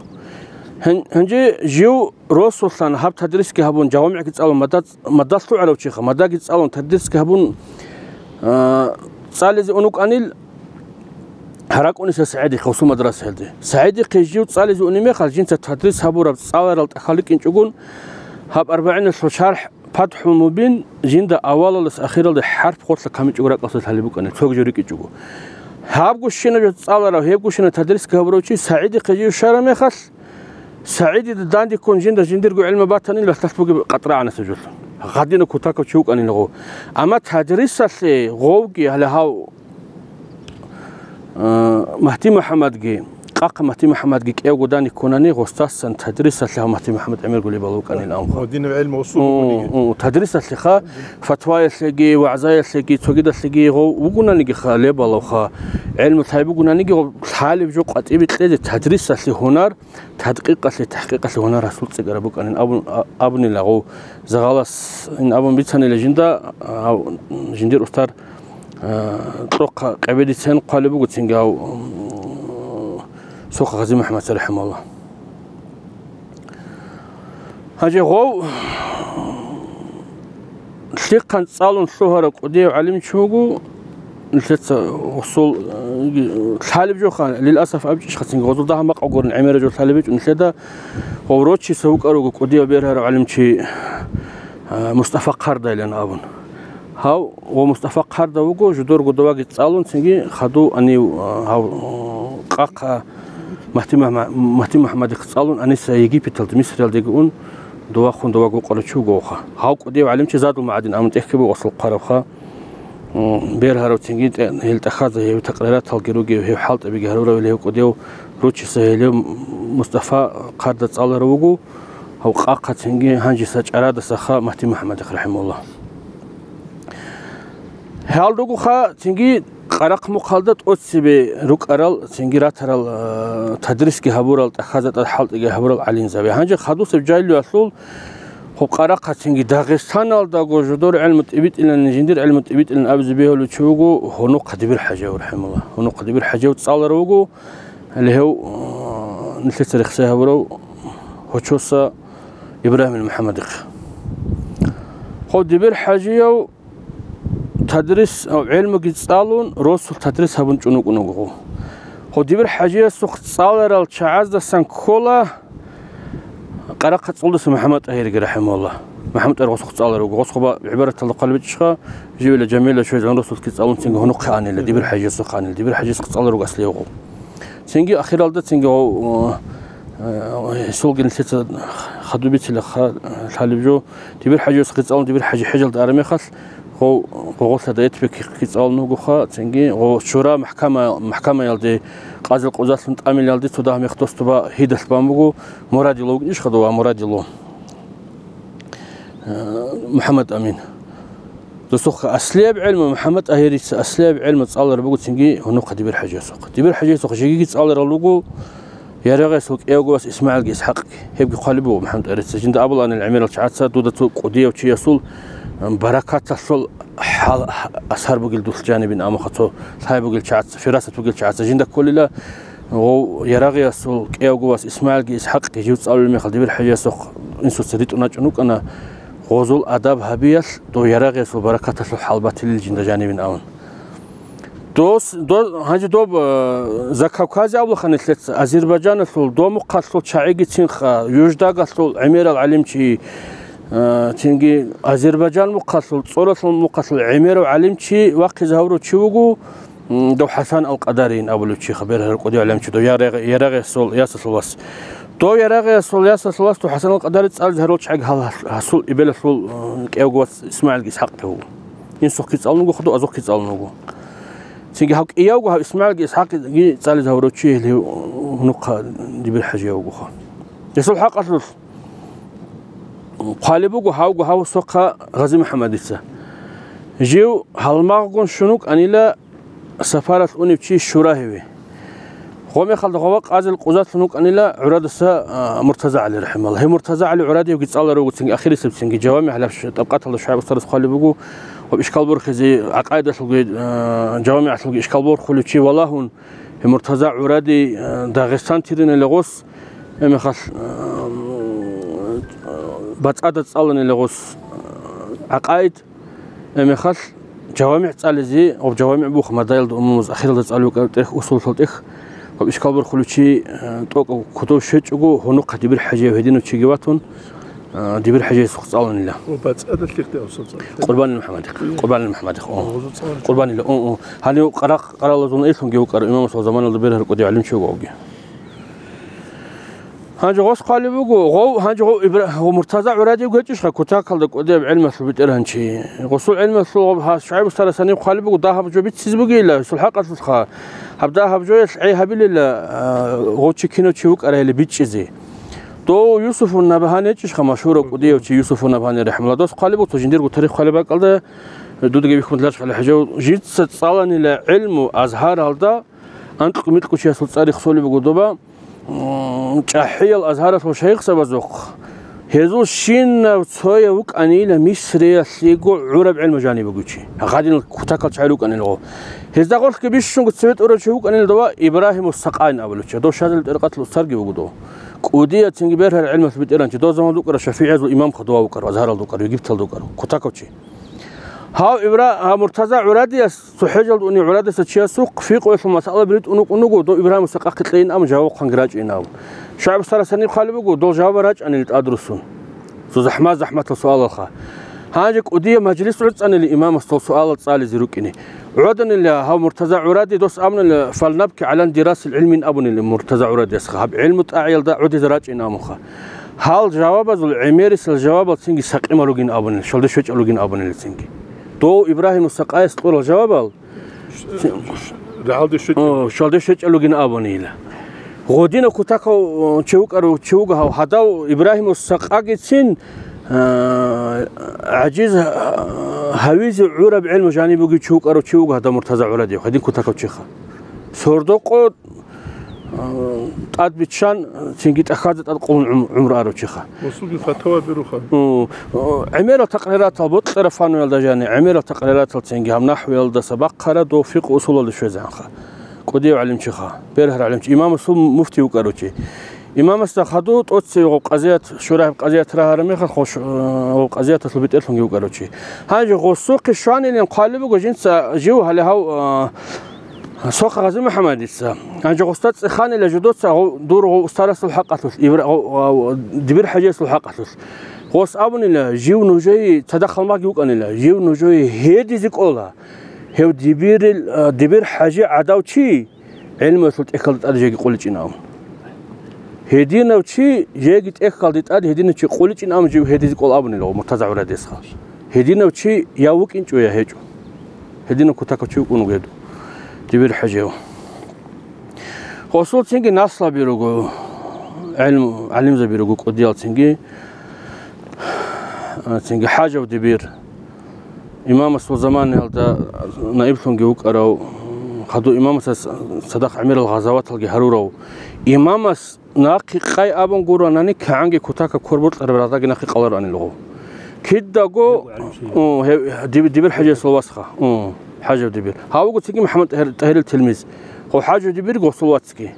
Гьан-, гьанже жив росулъан гьаб тадрисги гьабун, жавамигӀги цӀалун, мадад-, мадалъ лъугӀарав чиха, мадаги цӀалун, тадрисги гьабун, а, цӀализе ун вукӀанил, гьаракӀуниса СагӀидихъе гъосул мадрасаялде. СагӀидихъе жив цӀализе унеб мехалъ, жинца тадрис гьабураб цӀаларал тӀахьал рикӀкӀинчӀогун, гьаб АрбагӀиналъул шархӀ ПатхӀул Мубин жинда авалалдаса ахиралде хӀарп гъорлъа камичӀого ракӀалъулъ лъалеб букӀана, цоги жо рикӀкӀичӀого. Гьабго щинаб жо цӀаларав, гьебго щинаб тадрисги гьабурав чи СагӀидихъе жив щвараб мехалъ, СагӀидида дандеккун жинда жиндирго гӀилму батанила лъалъ бугеб къатӀрагӀанасеб жолъун. Гъадинав кутакав чи вукӀанила гъов. Амма тадрисалъе гъовги гьале гьав Э, Магьти МухӀаммадги, Къакъа Магьти МухӀаммадги кӀевго данде ккунани, гъостасан тадрисалъе гьав Магьти МухӀаммад гӀемерго лебал вукӀанин абун. Ва динул гӀелму усул О, бугониги. О, тадрисалъеха, фатваялъеги, вагӀзаялъеги, цогидалъеги гъов вугунанигиха лебалавха, гӀелму лъай бугунаниги гъов лъалеб жо къватӀибе кьезе тадрисалъе гьунар, тадкъикъалъе, тахӀкъикъалъе гьунар гьасул цӀикӀкӀараб букӀанин абун, а-, абунила гъов. Загъалас ин абун бицанила жинда, а, жиндир устар, а, Кьокъа Къебедицин хъвалеб буго цинги гьав, м, Сухъа Гъази МухӀаммадица, рахӀимагьуллагь. Гьанже гъов лъихъан цӀалун лъугьарав кӀудияв гӀалимчи вуго, нилъеца гъосул, э, лъалеб жоха, лиласаф абичӀищха цинги, гъозул дагьаб макъ гурин гӀемераб жо лъалеб гьечӀо нилъеда, гъов рочиса вукӀар вуго кӀудияв бергьарав гӀалимчи, э, Мустафа Хъардайилан абун. Гьав ва Мустафа Хъарда вуго, жидерго даваги цӀалун, цинги хадув анив, э, гьав, э, Къакъа Магьти Магьма-, Магьти МухӀаммадихъ цӀалун аниса Египеталде, Мисриялдеги ун, дова хун даваго вукъарав чи вугоха. Гьав кӀудияв гӀалимчи Задул МагӀадин абун тӀехьги буго гъосул хъварабха. М, бергьарав цинги тӀе-, гьел тӀахьазда гьев такърираталги ругев, гьев хӀалтӀабиги гьарурав гьев кӀудияв ручиса гьелев Мустафа Хъарда цӀаларав вуго, гьав Къакъа цинги гьанжеса чӀарадасаха Магьти МухӀаммадихъ, рахӀимагьуллагь. Гьал ругоха цинги Къарахъ-Мухъалда тӀоцебе рукӀарал, цинги ратарал, а, тадрисги гьабурал, тӀахьазда тӀад хӀалтӀиги гьабурал гӀалимзаби. Гьанже хадусеб жагьилиялъул гьеб Къарахъа цинги Дагъистаналдаго жидер гӀелму тӀибитӀилан, жиндир гӀелму тӀибитӀилан абизе бегьулев чи вуго Гьунухъа Дибир ХӀажияв, рахӀимагьуллагь. Гьунухъа Дибир ХӀажияв цӀаларав вуго, гьеле гьев, а, нилъеца рехсей гьабурав гьочоса Ибрагьимил МухӀаммадихъ. Гьев Дибир ХӀажияв тадрис, гӀелмуги цӀалун, росулъ тадрис гьабун чӀун вукӀун вуго. Гьев Дибир ХӀажиясухъ цӀаларал чагӀаздасан ккола Къарахъа ЦӀолдаса МухӀаммад ТӀагьирги, рахӀимагьуллагь. МухӀаммад ТӀагьир гъосухъ цӀаларав вуго. Гъосухъ ба-, гӀибараталда хъвалеб гьечӀищха, живила Жамилила щвезегӀан росулъги цӀалун цинги гьунухъе анила, дибир хӀажиясухъ анила, дибир хӀажиясухъ цӀаларав вуго аслиявго. Цинги ахиралда цинги гъов, э, э, гьесулги нилъеца хадуб бицила ха-, лъалеб жо, дибир хӀажиясухъ цӀалун, дибир хӀажи хӀежалда араб мехалъ, гъов гъогъолъа Даятбекихъги цӀалун вугоха, цинги гъов шура махӀкама-, махӀкамаялде, къазил къузалъун тӀамилалде цо дагь мех дос доба гьидалъ бан буго, Мурадило вукӀинищха дова, Мурадило. Э, МухӀаммад Амин. Досухъа аслияб гӀелму, МухӀаммад ТӀагьирица аслияб гӀелму цӀалараб буго цинги гьунухъа дибир хӀажиясухъ. Дибир хӀажиясухъ жегиги цӀаларал руго, Ярагъиясул кӀиявго вас ИсмагӀилги ИсхӀакъги. Гьебги хъвалеб буго МухӀаммад ТӀагьирица. Жинда абуланил гӀемерал чагӀаца, дуда цо кӀудияв чиясул, м, баракаталъул хӀал-, асар бугел дулъ жанибин, амма цо лъай бугел чагӀаца, фирасат бугел чагӀаца жинда кколила. Гъов Ярагъиясул кӀиявго вас ИсмагӀилги ИсхӀакъги жив цӀалулеб мехалъ дибир хӀажиясухъ инсуца ритӀун рачӀун рукӀана, гъозул адаб гьабиялъ дов Ярагъиясул баракаталъул хӀал батилел жинда жанибин абун. Дос, до-, гьанже доб, э, Закавказе абулаха нилъеца, Азербайджаналъул, доб мухъалъул чагӀигицинха, Юждагалъул гӀемерал гӀалимчи, э, цинги Азербайджан мухъалъул, ЦӀоралъул мухъалъул гӀемерав гӀалимчи вахъизе гьавурав чи вуго, м, дов ХӀасан ал-Къадариин абулев чиха, бергьараб кӀудияв гӀалимчи, дов Ярагъ-, Ярагъиясул ясалъул вас. Дов Ярагъиясул ясалъул вас дов ХӀасан ал-Къадари цӀализе гьарул чагӀи гьал гьас-, гьасул эбелалъул, э, кӀиявго вас ИсмагӀилги ИсхӀакъги вуго. Инсухъги цӀалун вуго, хадув азухъги цӀалун вуго. Цинги гьав кӀиявго гьав ИсмагӀилги ИсхӀакъги цӀализе гьавурав чи гьеле гьунухъа дибир хӀажияв вугоха. Гьесул хӀакъалъулъ хъвалеб буго гьавго гьав сохъа Гъази МухӀаммадица. Жив гьалмагъгун щун вукӀанила сапаралъ унев чи Шурагьеве. Гъомехалда гъова къазил къузалъун вукӀанила гӀурадаса, а, Муртаза ГӀали рахӀималла. Гьев Муртаза ГӀали гӀурадиевги цӀаларав вуго цинги ахирисеб цинги жавами гьалаб ш-, тӀабкъаталда ШугӀайб устарас хъвалеб буго, ва ишкал борхизе гӀакъайдалъулги, а, жавамигӀалъулги ишкал борхулев чи валагьун, гьев Муртаза гӀуради, а, Дагъистан тиринила гъос, гьеб мехалъ, а, БацӀцӀада цӀаланила гъос, а, гӀакъайд, Гьеб мехалъ жавамигӀ цӀализе, гъоб жавамигӀ бух мадаялда умумуз ахиралда цӀалев вукӀараб тӀех, усулалъул тӀех, гъоб ишкал борхулев чи, э, тӀокӀав кодов щвечӀого, гьунухъа дибир хӀажияв гьединав чиги ватун, э, дибир хӀажиясухъ цӀаланила. Ва бацӀцӀадалъихъ де авсал цӀалихъ. Къурбанил МухӀаммадихъ, Къурбанил МухӀаммадихъ, о. Гъозо цӀалан. Къурбанила, о, о. Гьанив къаракъ-, къаралазул элъунги вукӀарав имамасул заманалда бергьараб кӀудияв гӀалимчи вуго авги. Гьанже гъос хъвалеб буго, гъов, гьанже гъов Ибра-, гъов Муртаза ГӀурадиев гьечӀищха кутакалда кӀудияб гӀелмалъул бетӀергьанчи? Гъосул гӀелмалъул гъоб гьас ШугӀайб устарас гьаниб хъвалеб буго, дагьаб жо бицциз бугейила, гьесул хӀакъалъулъха. Гьаб дагьаб жоялъ гӀей гьабилила, а, гъов чи кинав чи вукӀарайили бичӀчӀизе. Дов Юсуфун Набгьани гьечӀищха, машгьурав кӀудияв чи Юсуфун Набгьани рахӀмалла. Дос хъвалеб буго, цо жиндирго тарих хъвалеб бакӀалда, дудги бихьун лъаларищ гьале хӀажав, жинца цӀаланила гӀелму Азгьаралда, анкьго-микьго чиясул цӀарихъ солеб буго доба, м, чӀахӀиял Азгьаралъул шайихзабазухъ, гьезул щинав цояв вукӀанила Мисриялъего гӀураб гӀелму жаниб бугев чи. Гьадинал кутакал чагӀи рукӀанилго. Гьезда гъорлъги бищунго цеве тӀурав чи вукӀанила дова Ибрагьимус Сакъайн абулев чи. Дов Шазил тӀарикъаталъул устарги вуго дов. КӀудияв цинги бергьараб гӀелмалъ бетӀергьанчи, дов заман вукӀарав ШафигӀиязул имамха дова вукӀарав, Азгьаралда вукӀарав, Египталда вукӀарав, кутакав чи. Гьав Ибра-, гьав Муртаза ГӀурадияс цо хӀежалда уни гӀурадаса чиясухъ фикъгьуялъул масъала биритӀун вукӀун вуго, дов Ибрагьимус Сакъахъе кьейин абун жаваб хъванги рачӀейин абун. ШугӀайб устарас гьаниб хъвалеб буго, дол жавабал рачӀанили тӀадрусун. Цо захӀмат-захӀматал суалалха. Гьанже кӀудияб мажлис гӀуцӀанили имамас дол суалал цӀализе рукӀине. ГӀоданила гьав Муртаза ГӀуради дос абунила, «Фалнабки гӀалан дирасил гӀилмин», абунила Муртаза ГӀурадиясха, гьаб гӀилму тӀагӀиялда гӀодизе рачӀейин абунха. Гьал жавабазул гӀемерисел жавабал цинги сакъимал ругин абунила, щолде щвечӀал ругин абунила цинги. Дов Ибрагьимус Сакъаяс кьурал жавабал, рагӀалде щвечӀал. О, щолде щвечӀал ругин абунила. Гъодинав кутакав чи вукӀарав чи вуго гьав, гьадав Ибрагьимус Сакъагицин, а, гӀажиз, а, гьавизе гӀураб гӀелму жаниб бугев чи вукӀарав чи вуго гьадав Муртаза ГӀурадиев, гьадин кутакав чиха. Сордо-къо тӀад биччан, цинги тӀахьазда тӀад къулун гӀум-, гӀумру арав чиха. Расулги фатава беруха. О, о, гӀемерал такъриратал, бокьараб фануялда жани, гӀемерал такъриратал цинги гьаб нахӀвиялдаса бахъара дов фикъ усулалда щвезегӀанха. КӀудияв гӀалимчиха, бергьарав гӀалимчи, имамасул муфти вукӀарав чи. Имамасда хадув тӀоцеве гъов къазият, Шурагьиб къазият рагьараб мехалъ, гъов ш-, гъов къазияталъул бетӀерлъунги вукӀарав чи. Гьанже гъосухъе щванилин хъвалеб буго жинца жив гьале гьав, а, Сохъа Гъази МухӀаммадица. Гьанже гъосда цӀеханила жидоца гъов, дур гъов устарасул хӀакъалъулъ, Ибра-, гъов, гъов, Дибир ХӀажиясул хӀакъалъулъ. Гъос абунила, жив нужее цадахъ гьалмагъги вукӀанила, жив нужее гьедизе кӀола, гьев Дибирил, а, Дибир ХӀажи гӀадав чи гӀелмуялъул тӀехьалда тӀаде жеги къуличӀин абун. Гьединав чи жеги тӀехьалде тӀаде гьединав чи къуличӀин абун жив гьедизе кӀола абунила Муртаза гӀурабиясха. Гьединав чи я вукӀинчӀо, я гьечӀо. Гьединав кутакав чи вукӀун вугев Дибир ХӀажияв. Гъосул цинги наслаби руго, гӀелму-, гӀалимзаби руго кӀудиял цинги, цинги ХӀажав Дибир, имамасул заманаялда наиблъунги вукӀарав, хадув имамасда цадахъ гӀемерал гъазаваталги гьарурав, имамас нахъе къай абун гуронани, кигӀанги кутакаб квер бокьараб рагъдаги нахъе къалароанилгъу. Кидаго, о, гьев, Диб-, Дибир ХӀажиясул васха, о, ХӀажав Дибир. Гьав вуго цинги МухӀаммад ТӀагьир-, ТӀагьирил тилмиз. Гъо ХӀажав Дибирги гъосул вацги.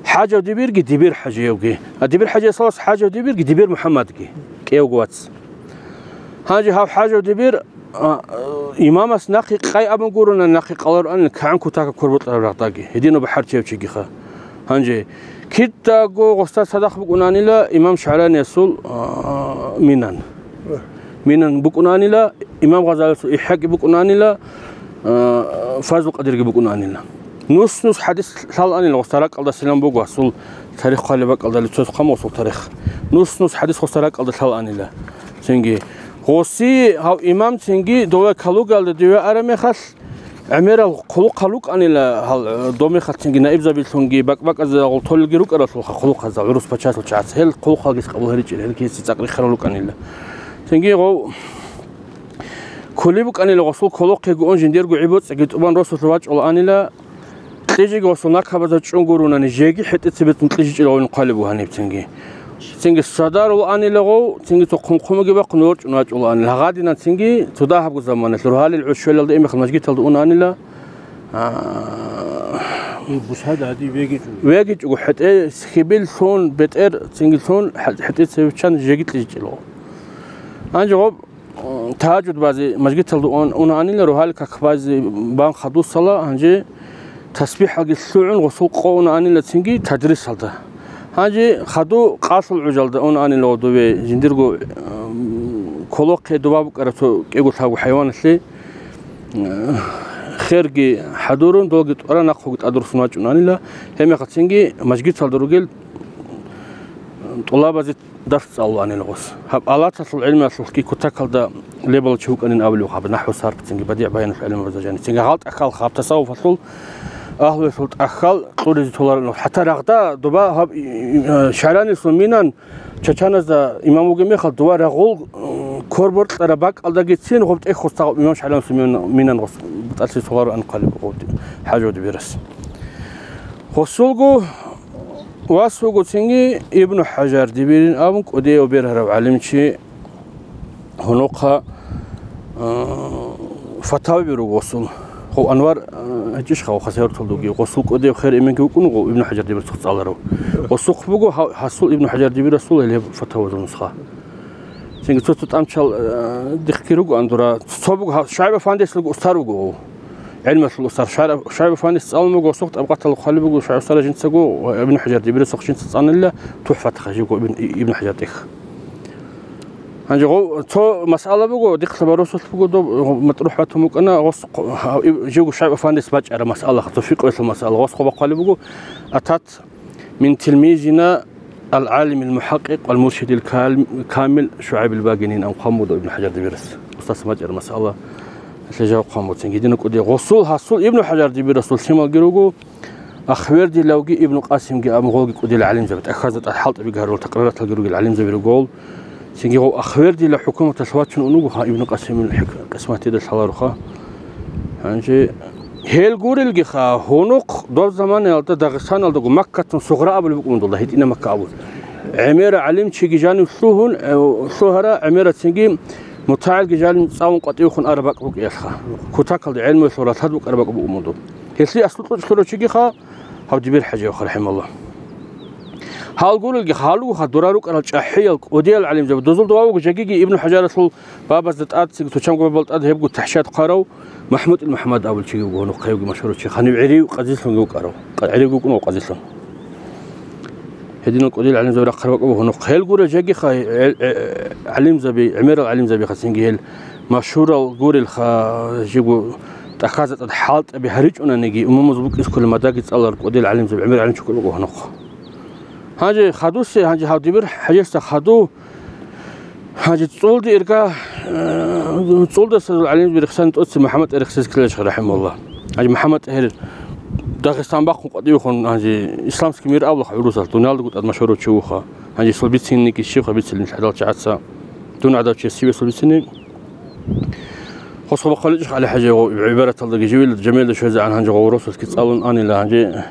ХӀажав Дибирги Дибир ХӀажиявги. А Дибир ХӀажиясул вас ХӀажав Дибирги Дибир МухӀаммадги. КӀиявго вац. Гьанже гьав ХӀажав Дибир А, имамас нахъе къай абун гурони, нахъе къалароанила кигӀан кутакаб квер бокьараб рагъдаги, гьединав бахӀарчияв чигиха. Гьанже кидаго гъосда цадахъ букӀунанила имам ШагӀраниясул, а, Минан. Минан букӀунанила, имам Гъазалиясул ИхӀяги букӀунанила, а, Фазлу Къадирги букӀунанила. Нус-нус хӀадис лъалаанила гъосда ракӀалдасилан буго, гьасул тарих хъвалеб бакӀалда, лицо хъамусул тарих. Нус-нус хӀадис гъосда ракӀалда лъалаанила. Цинги гъоси гьав имам цинги дове калугалда диве араб мехалъ, гӀемерал хъулухъал рукӀанила гьал, э, дов мехалъ цинги наибзабилъунги бакӀ-бакӀазда гъолтолелги рукӀаралъулха хъулухъазда гӀурус пачалъул чагӀаз. Гьел хъулухъалги къабул гьаричӀел, гьел киси цӀакъ рихарал рукӀанила. Цинги гъов кколеб букӀанила гъосул кколохъего ун жиндирго гӀи-боцӀиги тӀубан росулъ вачӀулаанила, кьижиги гъосул накабазда чӀун гурунани, жеги хӀетӀе цебетун кьижичӀел гъовин хъвалеб бугьаниб цинги. Цинги садарулаанила гъов, цинги цо хъумхъумаги бахъун ворчӀун вачӀулаанила. Гьагъадинан цинги цо дагьабго заманалъ, рогьалил гӀуж щвелалда имехалъ мажгиталда унаанила, а, бусада гьадин вегичӀо. ВегичӀого хӀетӀе хьибил лъун, бетӀер цинги лъун, хӀе-, хӀетӀе цевиччан жеги кьижичӀел гъов. Гьанже гъоб тагьажуд базе мажгиталда ун-, унаанила, рогьалил как базе бан хадусала, гьанже тасбихӀалги лъугӀун гъосул къо унаанила цинги тадрисалда. Гьанже хаду къалъул гӀужалда унаанила гъодове жиндирго, м, кколохъе доба букӀараб цо кӀиго-лъабго хӀайваналъе, м, херги хӀадурун, долги тӀвара нахъоги тӀадруссун вачӀунаанила, гьебмехалъ цинги мажгиталда ругел тӀулабазе дарс цӀалулаанила гъос. Гьаб алаталъул гӀилмалъулъги кутакалда лебала чи вукӀанин абулев гьаб, нахӀву, сарф цинги, бадигӀ баяналъул гӀилмабазда жаниб. Цинги гьал тӀахьал гьаб тасаввуфалъул агьлуялъул тӀахьал кьуризе толаран. ХӀатта рагъда доба гьаб, и, и, э, ШагӀраниясул Минан чачаназда имам вугеб мехалъ, дова рагъул, э, квер бокьараб бакӀалдагицин гъоб тӀехь гъос тагъаб имам ШагӀраниясул Мин-, Минан гъос бутӀалъи толаран хъвалеб гъов ХӀажав Дибирас. Гъосулго вас вуго цинги Ибну ХӀажар Дибирин абун кӀудияв бергьарав гӀалимчи, гьунухъа, а, фатаваби руго гъосул. Гъов Анвар, а, гьечӀищха, гъов Хасавюрталда вугев. Гъосул кӀудияб хер эменги вукӀун вуго Ибну ХӀажар Дибирасухъ цӀаларав. Гъосухъ буго гьа-, гьасул Ибну ХӀажар Дибирасул гьелеб фатавазул нусха. Цинги цо-цо тӀамчал, а, дихъги ругоан дура. Цо буго гьа-, ШугӀайб афандиясулго устар вуго гъов. ГӀилмалъул устар ШугӀайб, ШугӀайб афандияс цӀалун буго, гъосухъ тӀабкъатал хъвалеб буго, ШугӀайб устарас жинцаго ва Ибну ХӀажар Дибирасухъ жинца цӀанила ТухӀфатха живго Ибн, Ибну ХӀажар тӀехь. Гьанже гъов цо масъала буго, дихъ лъабарусулъ буго доб, гъо-, матӀрухӀ батун букӀана, гъос хъо-, гьав иб-, живго ШугӀайб афандияс бачӀараб масъала, цо фикъгӀуялъул масъала, гъос хъо бахъвалеб буго, атат мин тилмизина ал-гӀалимил мухӀакъкъикъ вал муршидил кал-, камил ШугӀайбил Багинин, ан хъван буго Ибну ХӀажар Дибирас. Устаз бачӀараб масъала, гьелъе жаваб хъван буцин. Гьедина кӀуди гъосул, гьасул Ибну ХӀажар Дибирасул лъималги руго, Ахвердилавги Ибну Къасимги абун гъолги кӀудила гӀалимзаби, тӀахьазда тӀад хӀалтӀабиги гьарурал такъриралги ругел гӀалимзаби руго гъол. Цинги гъов Ахвердила хӀукуматалъ вачун унуго, гьа, Ибну Къасимил хӀик-, къисматида лъаларуха. Гьанже гьел гурелгиха, гьунухъ доб заманаялда Дагъистаналдаго Маккатун Сугъра абулеб букӀун долда, гьитӀина Макка абун. ГӀемера гӀалимчиги жанив лъугьун, э, лъугьара, гӀемера цинги мутагӀилги жанив цӀалун къватӀивехун араб бакӀ букӀиялъха. Кутакалда гӀелмуялъул ралъад букӀараб бакӀ букӀун буго. Гьелъие аслу кьучӀ лъурав чигиха, гьав Дибир ХӀажи ваха, рахӀималлагь. Гьал гурелги, гьалуха дура рукӀарал чӀахӀиял, кӀудиял гӀалимзаби. Дозул дова вуго жагиги Ибну ХӀажаралъул бабазда тӀад, цинги цо чанго бабал тӀад гьебго тахӀшат хъварав МахӀмуд ил МухӀаммад абул чиги вуго, гьунухъ гьевги машгьурав чи, гьанив гӀерив къазилъунги вукӀарав, къа-, гӀерив вукӀунав къазилъун. Гьединал кӀудиял гӀалимзаби рахъараб бакӀ буго гьунухъ. Гьел гурел жегиха, гӀел-, гӀе-, гӀалимзаби, гӀемерал гӀалимзабихацинги гьел машгьурал гурелха, жего тӀахьазда тӀад хӀалтӀаби гьаричӀунаниги, умумуз букӀине кколел мадаги цӀаларал кӀудиял гӀалимзаби, гӀемерал гӀалимчи кколел буго гьунухъ. Гьанже хадусе, гьанже гьав дибир хӀажесда хаду, гьанже цӀолде ирга, э, цӀолдаса гӀалимзаби рехсани тӀоцебе МухӀаммад ТӀагьир рехсезе ккелалищха, рахӀимагьуллагь. Гьанже МухӀаммад ТӀагьир Дагъистан бахъун къватӀивехун, гьанже исламский мир абулаха гӀурусалъ, дуниялдаго тӀад машгьурав чи вуха. Гьанже цо бицинниги щибха бицинилан гьадал чагӀаца. Дун гӀадав чияс щиб цо бицини. Хосхо бахъаличӀищ ГӀали-хӀажи гъо-, гӀибараталдаги живила, жамелда щвезегӀан гьанже гъо росулъги цӀалун анила, гьанже,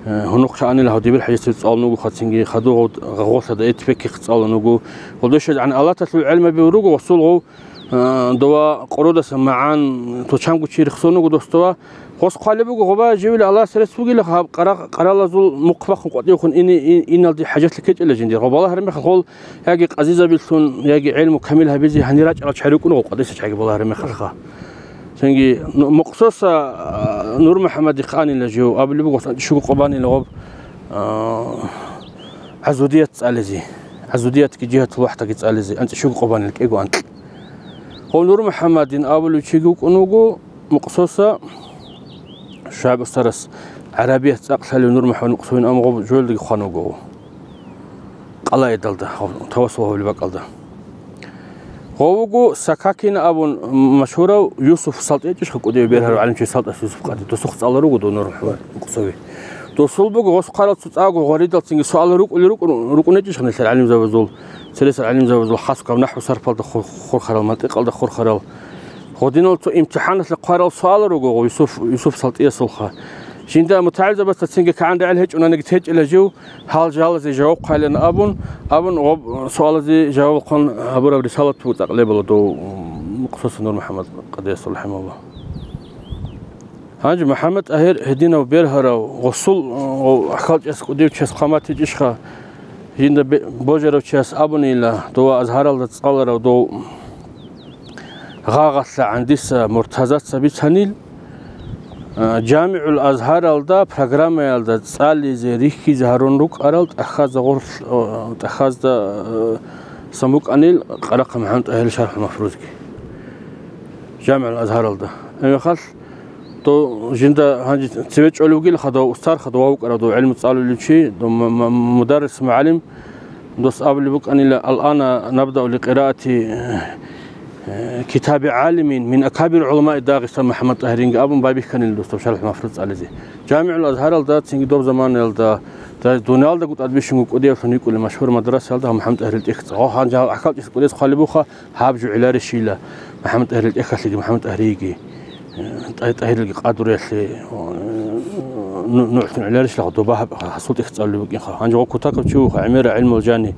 э, гьунухъе анила гьав дибир хӀажесда цӀалун вуго хацинги, хадув гъо-, гъолъада эт бекихъ цӀалун вуго. Гъолдашаз гӀан алаталъул гӀелмаби руго гъосул гъов, э, дова къородаса магӀан, то чанго чи рехсон вуго дос дова. Гъос хъвалеб буго, гъоба живила Аллагьас рес бугила, гьаб къара-, къаралазул мухъ бахъун къватӀивехун ини-, и-, иналде хӀажатлъи ккечӀила жиндир. Гъоб балагьараб мехалъ гъол яги къазизабилъун, яги гӀелму камил гьабизе гьанир рачӀарал чагӀи рукӀуна гъо къватӀиса чагӀи балагьараб мехалъха. Цинги ну-, Мукъсоса, а, НурмухӀаммадихъ анила жив, абулеб буго, анцӀила щуго къо банила гъоб, а, ГӀазудият цӀализе. ГӀазудиятги жигьатул вахӀдаги цӀализе, анцӀила щуго къо банила, кӀиго анкь. Гъов НурмухӀаммадин абулев чиги вукӀун вуго, Мукъсоса ШугӀайб устарас гӀарабият цӀакъ лъалев НурмухӀаммад Мукъсовин, амма гъоб жоялдаги хъван вуго къалаидалда, гъоб тавасул гьавулеб бакӀалда. Гъов вуго Сакакин абун машгьурав Юсуп СалтӀи гьечӀищха, кӀудияв бергьарав гӀалимчи СалтӀас Юсуп къади, досухъ цӀаларав вуго дов НурмухӀаммад Мукъсови. Досул буго гъос хъварал цо цӀакъго гъваридал цинги суалал рукӀулел рукӀун-, рукӀун гьечӀищха нилъер гӀалимзабазул, цересел гӀалимзабазул, хасго гьаб нахӀву сарфалда хур-, хурхарал, мантикъалда хурхарал. Гъодинал цо имтихӀаналъе хъварал суал руго Юсуф, Юсуф СалтӀиясулха. Жинда мутагӀилзабазда цинги кигӀан регӀел гьечӀонаниги течӀила жив, гьал жалазе жаваб хъвалин абун, абун гъоб суалазе жаваб хъван гьабураб рисалат буго цӀакъ лебала дов Мукъсоса НурмухӀаммад къадиясул, рахӀимагьуллагь. Гьанже МухӀаммад ТӀагьир гьединав бергьарав, гъосул, гъо-, хьалчӀес кӀудияв чияс хъван батичӀищха, жинда бе-, божарав чияс абунила, дова Азгьаралда цӀаларав дов гъагъалъа гӀандиса Муртазаца бицанил, а, ЖамигӀул Азгьаралда программаялда цӀализе рихьизе гьарун рукӀарал тӀахьазда гъорлъ-, а, тӀахьазда, а, сан букӀанил Къарахъа МухӀаммад ТӀагьирил ШархӀул Мафрузги. ЖамигӀул Азгьаралда. Гьеб мехалъ, дов жинда гьанже цеве чӀолев вугилаха, дов устарха, дов вукӀарав, дов гӀелму цӀалулев чи, дов м-, м-, мударрис, мугӀалим, дос абулеб букӀанила: «Ал-ана набдау ли къираати, э, китаби гӀалимин мин акабир гӀуламаи Дагъистан МухӀаммад ТӀагьиринги», абун байбихьанила дос доб ШархӀул Мафруз цӀализе. ЖамигӀул Азгьаралда цинги доб заманаялда, да, дуниялдаго тӀад бищунго кӀудиявлъун йикӀулеб машгьур мадрасаялда гьаб МухӀаммад ТӀагьирил тӀехь цӀа-, гьанже гьал гӀахьалчӀес кӀудияс хъвалеб буха, гьаб жо гӀиларищила, МухӀаммад ТӀагьирил тӀехьалъеги МухӀаммад ТӀагьириги, э, ТӀа-, ТӀагьирилги къадруялъе, э, ну-, нугӀлъун гӀиларищила, доба гьаб-, гьасул тӀехь цӀалулеб букӀинха. Гьанже гъо кутакаб чи вуха, гӀемера гӀилмул жани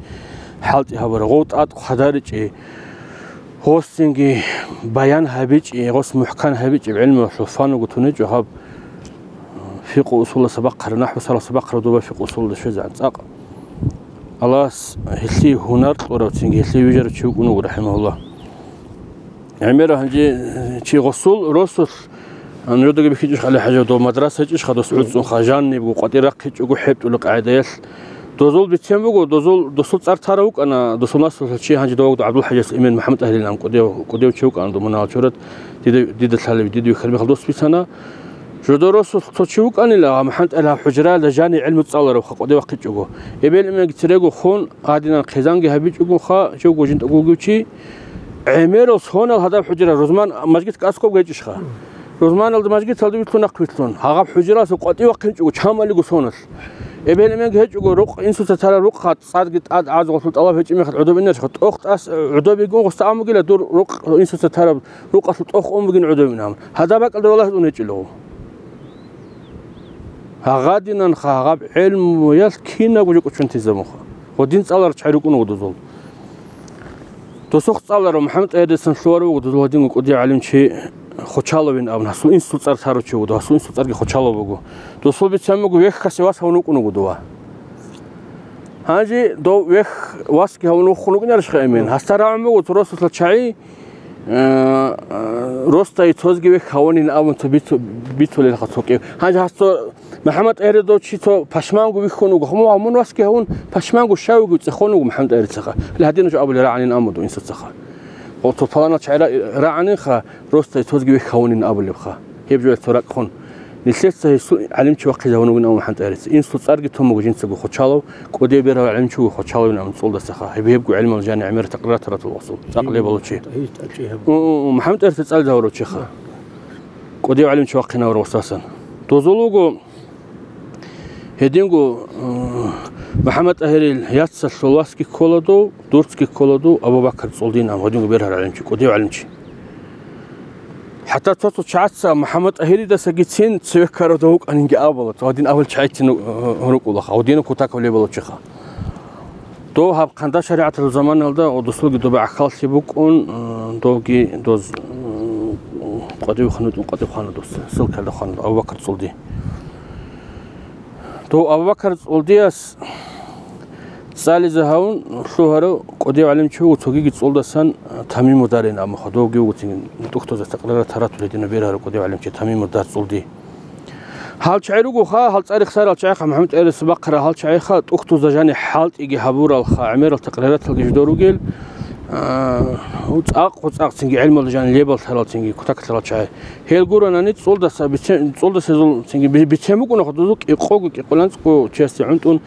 хӀалтӀи гьабура, гъов тӀад хъадаричӀи, гъосинги баян гьабичӀи, гъос мухӀкан гьабичӀеб гӀилмуялъул фан вуго тунечӀо гьаб, э, фикъу усуласа бахъараб, нахӀву саралъа бахъараб доба фикъу усулалда щвезегӀан цӀакъ. Аллагьас гьелъие гьунар кьурав, цинги гьелъие вижарав чи вукӀун вуго, рахӀимагьуллагь. ГӀемера гьанже чи гъосул росулъ, а, нужедаги бихьичӀищ, ГӀали-хӀажи, дов мадраса гьечӀищха дос гӀуцӀцӀунха, жанибго къватӀир рахъичӀого хӀетӀулеб къагӀидаялъ. Дозул бицен буго, дозул, досул цӀар тарав вукӀана, досул наслулъа чи гьанже довагодав ГӀабдул-хӀажияс Эмен МухӀаммад ТӀагьирилан кӀудияв, кӀудияв чи вукӀана, дов мунагьал чурат, дида, дида лъалеб, дида вихьараб мехалъ дос бицана. Жодор росулъ цо чи вукӀанила, ГӀабдул-хӀажи ТӀагьирил гьав хӀужраялда жани гӀилму цӀаларавха къватӀив вахъичӀого. Эбел-эменги церего хун, гьадинан хъизанги гьабичӀогонха, живго жинда вугев чи, гӀемерал сонал гьадаб хӀужра, рузман мажгиталда аскӀоб гьечӀищха. Рузманалда мажгиталда вилълъун, нахъ вилълъун, гьагъаб хӀужраялъул къватӀив вахъинчӀого чамалиго соналъ. Эбел-эменги гьечӀого, рукъ, инсуца тараб рукъха, цӀадги тӀад гӀазу гъолъул тӀалаб гьечӀеб мехалъ гӀодоб инарищха, тӀохтӀас, гӀодобигун гъосда амугила дур рукъ, инсуца тараб рукъалъул тӀох ун бугин гӀодобин гьаб. Гьадаб бакӀалда валагьун гьечӀила гъов. Гьагъадинанха гьаб гӀелмуялъ кинабго жо кӀочон тезабунха. Гъодин цӀаларал чагӀи рукӀун вуго дозул. Досухъ цӀаларав МухӀаммад ТӀагьиридасан лъугьарав вуго дозул гьадинго кӀудияв гӀалимчи Хочаловин абун, гьасул инсул цӀар тарав чи вуго, гьасул инсул цӀарги Хочалов буго. Досул бицен буго, вехьасе вас гьавун вукӀун вуго дова. Гьанже дов вехь васги гьавун вухун вукӀинарищха, Эмен? Гьасда рагӀун буго цо росулъа чагӀи, Э, э, росдае цозги вехь гьавунин абун цо бицу-, бицулелха цо кӀив. Гьанже гьас цо МухӀаммад ТӀагьиридав чи цо пашманго вихьун вуго. Мун, мун васги гьавун, пашманго щай вугев цӀехон вуго МухӀаммад ТӀагьирицаха. Гьадинав жо абулеб рагӀанин абун дов инсацаха. Гъо, цо паланачагӀи ра-, рагӀанинха, росдае цозги вехь гьавунин абулебха. Гьеб жо цо ракӀ хун. Нилъеца гьесул гӀалимчи вахъизавун вугин абун МухӀаммад ТӀагьирица. Инсул цӀарги тун буго жинцаго Хочалов, кӀудияв бергьарав гӀалимчи вуго Хочаловин абун цӀолдасаха. Гьеб-, гьебго гӀелмал жани гӀемер такърар таратал васул, цӀакъ лебалав чи. О, о, о, МухӀаммад ТӀагьирица цӀализе гьавурав чиха. КӀудияв гӀалимчи вахъинавурав васасан. Дозул вуго гьединго, э, МухӀаммад ТӀагьирил яцалъул васги ккола дов, дурцги ккола дов, Абу-Бакар ЦӀолдин абун, гьединго бергьарав гӀалимчи, кӀудияв гӀалимчи. ХӀатта цо-цо чагӀаца МухӀаммад ТӀагьиридасагицин цеве ккарав дов вукӀанинги абула, цо гьадин абул чагӀицин, э, рукӀулаха, гьадинаб кутакаб лебалав чиха. Дов гьаб хъанда шаригӀаталъул заманалда, о, досулги доба гӀахьаллъи букӀун, э, довги доз, э, къватӀив ханутӀун къватӀив хана дос, ссылкаялда хана, Абу-Бакар ЦӀолди. Дов Абу-Бакар ЦӀолдияс цӀализе гьавун лъугьарав кӀудияв гӀалимчи вуго, цогиги цӀолдасан, э, Тамиму Дарин абун, довги вуго цин тӀухьдузда такърарат таратулел гьединав бергьарав кӀудияв гӀалимчи Тамиму Дар ЦӀолди. Гьал чагӀи ругоха, гьал цӀар-, рехсарал чагӀиха, МухӀаммад ТӀагьирица бахъарал гьал чагӀиха, тӀухьдузда жани хӀалтӀиги гьабуралха, гӀемерал такърарат гьалги жидер ругел, а, цӀакъ-, цӀакъ цинги гӀелмалда жани лебал тарал цинги кутакалъарал чагӀи. Гьел гуронани цӀолдаса бицен-, цӀолдаса гьезул цинги би-, бицен букӀунаха дозул кӀикъого, кӀикъоялда анцӀго чиясде гӀунтӀун,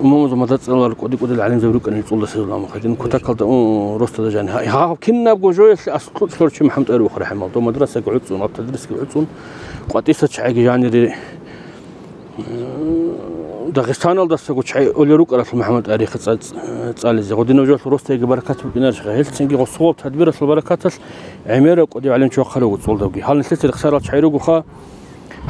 умумузул мадрасаялъул кӀуди-кӀудиял гӀалимзаби рукӀанил цӀолдаса гьезул, амма гьедин кутакалда, у, росдада жани. Гьа-, гьаб кинабго жоялъе аслу цӀар чи МухӀаммад ТӀагьир вухараб хӀамал, дов мадрасаги гӀуцӀун, гьаб тадрисги гӀуцӀун, къватӀиса чагӀиги жанире, э, Дагъистаналдасаго чагӀи олел рукӀаралъул МухӀаммад ТӀагьирихъе цӀа-, цӀа-, цӀализе. Гъодинав жоялъул росдаги баракат букӀинарищха. Гьелцинги гъосул тадбиралъул баракаталъ гӀемерав кӀудияв гӀалимчи вахъарав вуго цӀолдавги. Гьал нилъеца рехсарал чагӀи ругоха,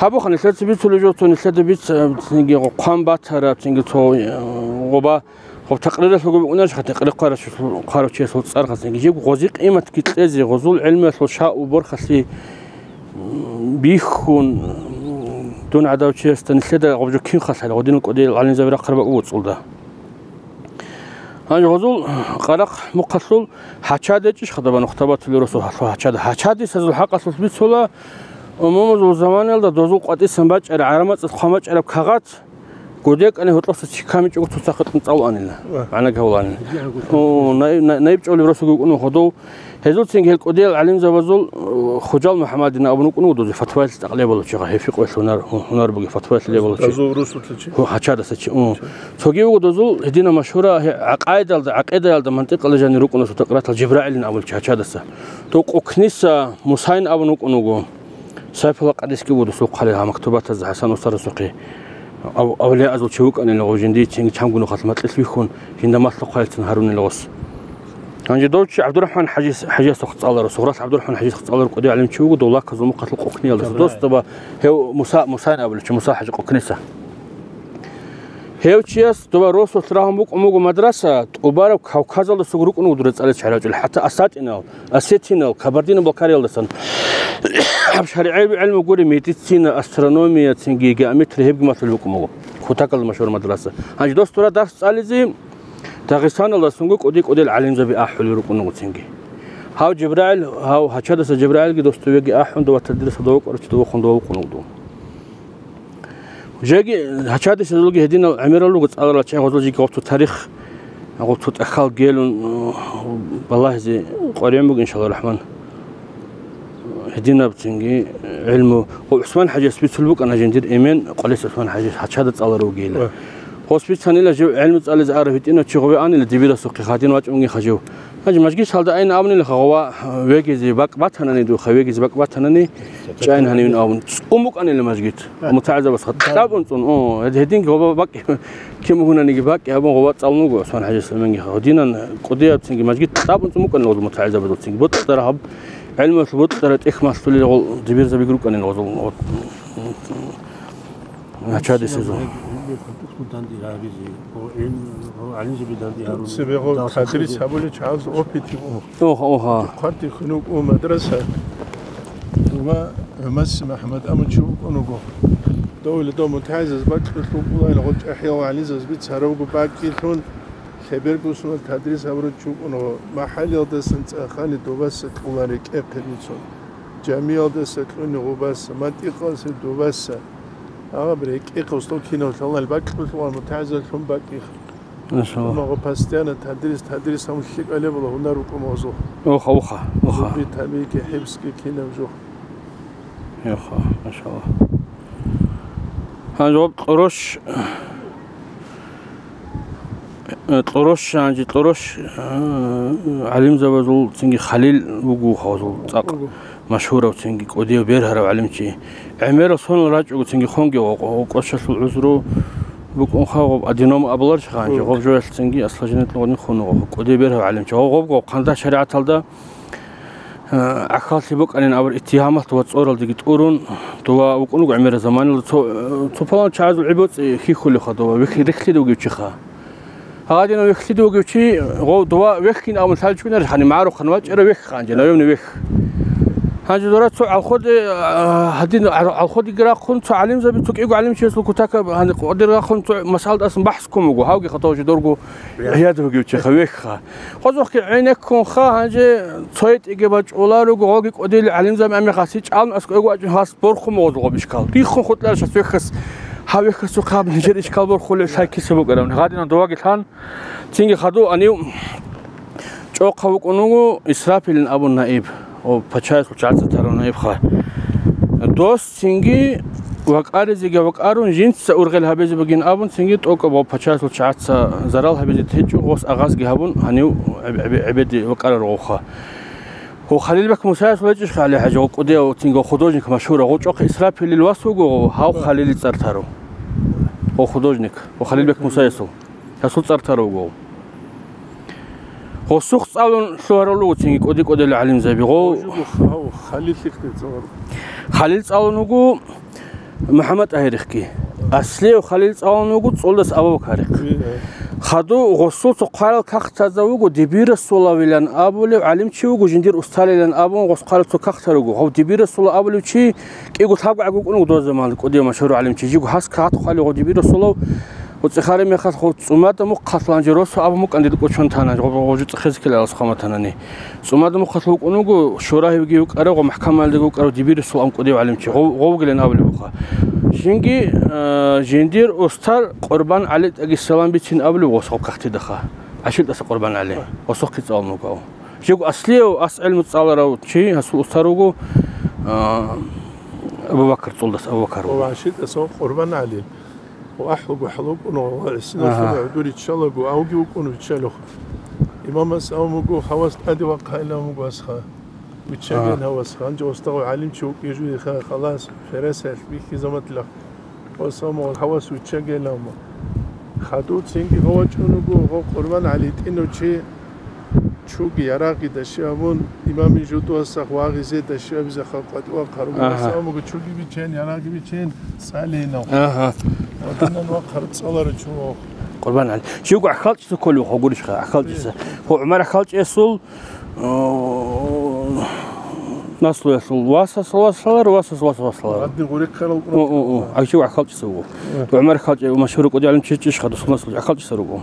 гьабуха нилъеца бицулеб жо, цо нилъеда биц-, цинги гъо-, хъван батараб, цинги цо, э, гъоба, гъоб такъриралъулго букӀунарищха, такърир хъварав чиясул, хъварав чиясул цӀарха цинги. Жиб гъози къиматги кьезе, гъозул гӀелмуялъул шагьу борхалъи, м, бихьун, м, дун гӀадав чиясда нилъеда гъоб жо кин халъала, гъодинал кӀудиял гӀалимзаби рахъараб бакӀ буго цӀолда. Гьанже гъозул къарахъ мухъалъул гьачада гьечӀищ хадаб нухтабатулел росу гьалъул гьачада. Гьачадисазул хӀакъалъулъ бицула, умумузул заманаялда дозул къватӀисан бачӀараб, гӀарамацӀалъ хъван бачӀараб кагъат, гудекӀани гьоркьоса чи камичӀого цоцахъе тӀун цӀалуанила, Ва. МагӀна гьавуланила. О, наиб, на-, наиб чӀолеб росуги вукӀун вуго дов. Гьезул цинги гьел кӀудиял гӀалимзабазул, э, Хужал МухӀаммадин абун вукӀун вуго дозе, фатваялъе цӀакъ лебалав чи, гьев фикъгӀуялъ гьунар, гьунар бугеб, фатваялъе лебалав чи. Дозул росулъа чи? Гьу, гьачадаса чи. О. Цоги вуго дозул гьединаб машгьура гье-, гӀакъайдалда, гӀакъидаялда, мантикъалда жанир рукӀуна цо такъриралъул Жибраилин абулев чи гьачадаса. Дов Къукниса Мусайин абун вукӀун вуго. Сайфулла къадисги вуго досул хъали гьа мактубатазда ХӀасан устарасухъе. Ав-, авлияазул чи вукӀанила гъов жиндицинги чамго нухалъ макьилъ вихьун, жинда малъухъайилцин гьарунила гъос. Гьанже дов чи ГӀабдурахӀман ХӀажис-, ХӀажиясухъ цӀаларав, Сугъралъ ГӀабдурахӀман ХӀажисухъ цӀаларав кӀудияв гӀалимчи вуго, дов Лаказул мухъалъул Къукниялдаса. Гьаб. Дос доба гьев Муса, Мусайин абулев чи, Муса ХӀажи Къукниса. Гьев чияс доба росулъ рагьун букӀун буго мадраса, тӀубараб Кавказалдасаго рукӀун вуго дур цӀализе чӀарачӀул, хӀатта асатӀинал, осетинал, Кабардино-Балкариялдасан. Гьаб шаригӀиял гӀелму гури, медицина, астрономия, цинги геометрия, гьебги малъулеб букӀун буго. Кутакалда машгьур мадраса. Гьанже дос дура дарс цӀализе Дагъистаналдасанго кӀуди-кӀудиял гӀалимзаби ахӀулел рукӀун вуго цинги. Гьав Жибраил, гьав гьачадаса Жибраилги дос довеги ахӀун, дова тадрисалда вукӀарав чи довехун дова вукӀун вуго дов. Жеги гьачадисезулги гьединал гӀемерал руго цӀаларал чагӀи, гъозул жеги гъоб цо тарих, гъоб цо тӀахьал гелун, э, балагьизе къваригӀун буго, иншалла рахман. Гьединаб цинги гӀелму. Гъо ГӀусман ХӀажияс бицулеб букӀана жиндир эмен, Къвалис ГӀусман ХӀажияс гьачада цӀаларав вугейилан. Ва. Гъос бицанила жив гӀелму цӀализе арав гьитӀинав чи гъове анила дибирасухъе, гьадин вачӀунгиха жив. Гьанже мажгисалда айин абунилаха гъова вегизе бакӀ батанани духа, вегизе бакӀ батанани чӀайин гьанивин абун. ЦӀун букӀанила мажгит. МутагӀилзабаз кьабун цӀун. О, гьед-, гьединги гъова бакӀ кин бугунаниги бакӀ абун гъова цӀалун вуго ГӀусман ХӀажияс эменги. Гьадинан кӀудиябцинги мажгит кьабун цӀун букӀанила гъозул мутагӀилзабазулцинги. БутӀараб гӀелмуялъул бутӀара тӀехь малъулел гъол дибирзабиги рукӀанила гъозул. Гьачадисезул. Цебегъо тадрис гьабулел чагӀаз опити у. Оха, оха. Хъвартихьун вукӀун мадраса. Дума ГӀумас МахӀмад абун чи вукӀун вуго. Довли дов мутагӀилзабаз бакьулъ вукӀула, гъо чӀахӀиял гӀалимзабаз бицаравго бакӀилъун. Хабергосуна тадрис гьабурав чи вукӀун гъо, махӀалиялдасан цӀа хани дубаса кьулан рекӀехъе бицун, жамиялдаса кьуни гъубаса, мантикъалъе дубаса. Агъаб рекӀехъе устал кинав лъалал бакьулъугъан мутагӀзаллъун бакӀихъ. Машалла. Амма гъо постоянно тадрис, тадрис гьамул лъикӀалебала гьунар рукӀун гъозул. Оха, оха, оха. Зуби, табиги, хӀибсги кинаб жо. Оха, машалла. Гьанже гъоб кьурош, э, кьурош, гьанже кьурош, э, гӀалимзабазул цинги Халил вуго гьазул цӀакъ машгьурав цинги кӀудияв бергьарав гӀалимчи. ГӀемерал сонал рачӀого цинги хонги гъо-, гъо-, кӀочалъул гӀузру букӀунха гъоб аденома абуларищха гьанже, гъоб жоялъ цинги осложнениялъун гъодин хун гъо, кӀудияв бергьарав гӀалимчи. Гъо-, гъоб гъо хъанза шаригӀаталда Э, ахьаллъи букӀанин абур иттигьамалъ ва цӀоралдеги тӀурун, дова вукӀун вуго гӀемерал заманалда цо, э, цо палан чагӀазул гӀибоцӀи хьихьулевха дова, вихь-, рихьлъи довгев чиха. Гьадинав вихьлъи довгев чи, гъов дова вехьин абун лъалчӀунарищ, гьаниб магӀарухъан вачӀарав вехь ханже, наемный вехь. Гьанже дора цо гӀалходе, э, гьадин гӀал-, гӀалходеги рахъун, цо гӀалимзаби, цо кӀиго гӀалимчиясул кутакаб гьаниб къвадир рахъун, цо масъаладаасан бахӀс ккун буго, гьавги хатав жо дорго гӀияд вугев чиха вехьха. Хозухъги гӀенеккунха, гьанже цойтӀиги бачӀуларуго, гъоги кӀудиял гӀалимзаби, амма гъаси чӀалун аскӀовего вачӀун гьас борхун мугъазул гъоб ишкал. Риххун хутӀларищ гьас вехьас, гьав вехьасухъ гьаб нижер ишкал борхулеб лъай киса букӀараб. Гьадинан доваги лъан, цинги хадув гьанив чӀохъав вукӀун вуго Исрафилин абун наиб, о, пачаясул чагӀаца тарав наибха. Дос Цинги вакӀаризеги вакӀарун, жинца ургъел гьабизе бугин абун, цинги тӀокӀаб гъо пачалъул чагӀаца зарал гьабизе течӀо, гъос агъазги гьабун, гьанив гӀеб-, гӀеб-, гӀебеде вакӀараргъуха. Гьу Халилбек Мусаевсул гьечӀищха, ГӀали-хӀажи, гъо кӀудияв цинги гъо художник машгьура, гъо чӀохъе Исрафилил вас вуго, гъо гьав Халилил цӀар таро. Гъо художник, гъо Халилбек Мусаевсул. Гьасул цӀар таро вуго. Гъосухъ цӀалун лъугьарал руго цинги кӀуди-кӀудиял гӀалимзаби. Гъо-, Гъо жуго хав-, Халил лъикъде цӀалун. Халил цӀалун вуго МухӀаммад ТӀагьирихъги. Аслияв Халил цӀалун вуго цӀолдас Абу-Бакарихъ. Э, э. Хаду гъосул цо хъварал кагътазда вуго Дибирасулавилан абулев гӀалимчи вуго, жиндир усталилан абун гъос хъварал цо кагътал руго. Гъов Дибирасулав абулев чи кӀиго лъабго гӀаг вукӀун вуго доза заман кӀудияв машгьур гӀалимчи. Жиго гьас кагът хъвалев гъов Дибирасулав. Гъо цӀехараб мехалъ гъо цӀумада мухъалъ, гьанже росу абун букӀан дир кӀочон тана, гъо, гъо жо цӀехезе ккелалас хъаматанани. ЦӀумада мухъалъ вукӀун вуго, Шурагьивги вукӀарав, гъо махкамалдеги вукӀарав Дибирасул ам кӀудияв гӀалимчи, гъо, гъо вугилан абулеб буха. Жинги, э, жиндир устар Къурбан ГӀали тӀаги салам бицин абулеб гъос гъо кагътидаха. ГӀашилтӀаса Къурбан ГӀали. Гъосухъги цӀалун вуго. Жего аслияв ас гӀелму цӀаларав чи, гьасул устар вуго, э, Абу-Бакр, цӀолдас Абу-Бакр вуго. Ва гӀашилтӀаса Къурбан ГӀали. Ва ахӀуго хӀалукӀун ва гӀисиналъур Агьа. гӀодор иччалаго, авги вукӀун виччалухъ. Имамас абун буго, гьавас тӀаде вахъайилан вуго асха. Виччаген Агьа. гьавас, гьанже устагъав гӀалимчи вукӀин журиха, халас, фересалъ, бихьизаматлъа. Ва самагъ гьавас виччагейилан. Хадув цинги гъо вачӀун вуго, гъо Къурбан ГӀали тӀинав чи. Чуги ярагъги даши абун, имамин жутӀуасахъ вагъизе даши абизахъа къватӀивахъарун. Агьа. Асамуго чуги бичен, ярагъги бичен, цӀалейилан. Агьа. Ватанан вахъараб цӀаларав чуго. Къурбан ГӀали. Чуго гӀахьалчӀиса кколев хъо гурищха, гӀахьалчӀиса. Э. Хо ГӀумар гӀахьалчӀесул, о, наслуялъул васас васалар, васас вас васалар. Гьадин гъурехъарал О, о, о. Ай чуго гӀахьалчӀиса вуго. Э. ГӀумар гӀахьалчӀи машгьур кӀудияв гӀалимчи чӀищха, дусмасул гӀахьалчӀиса руго.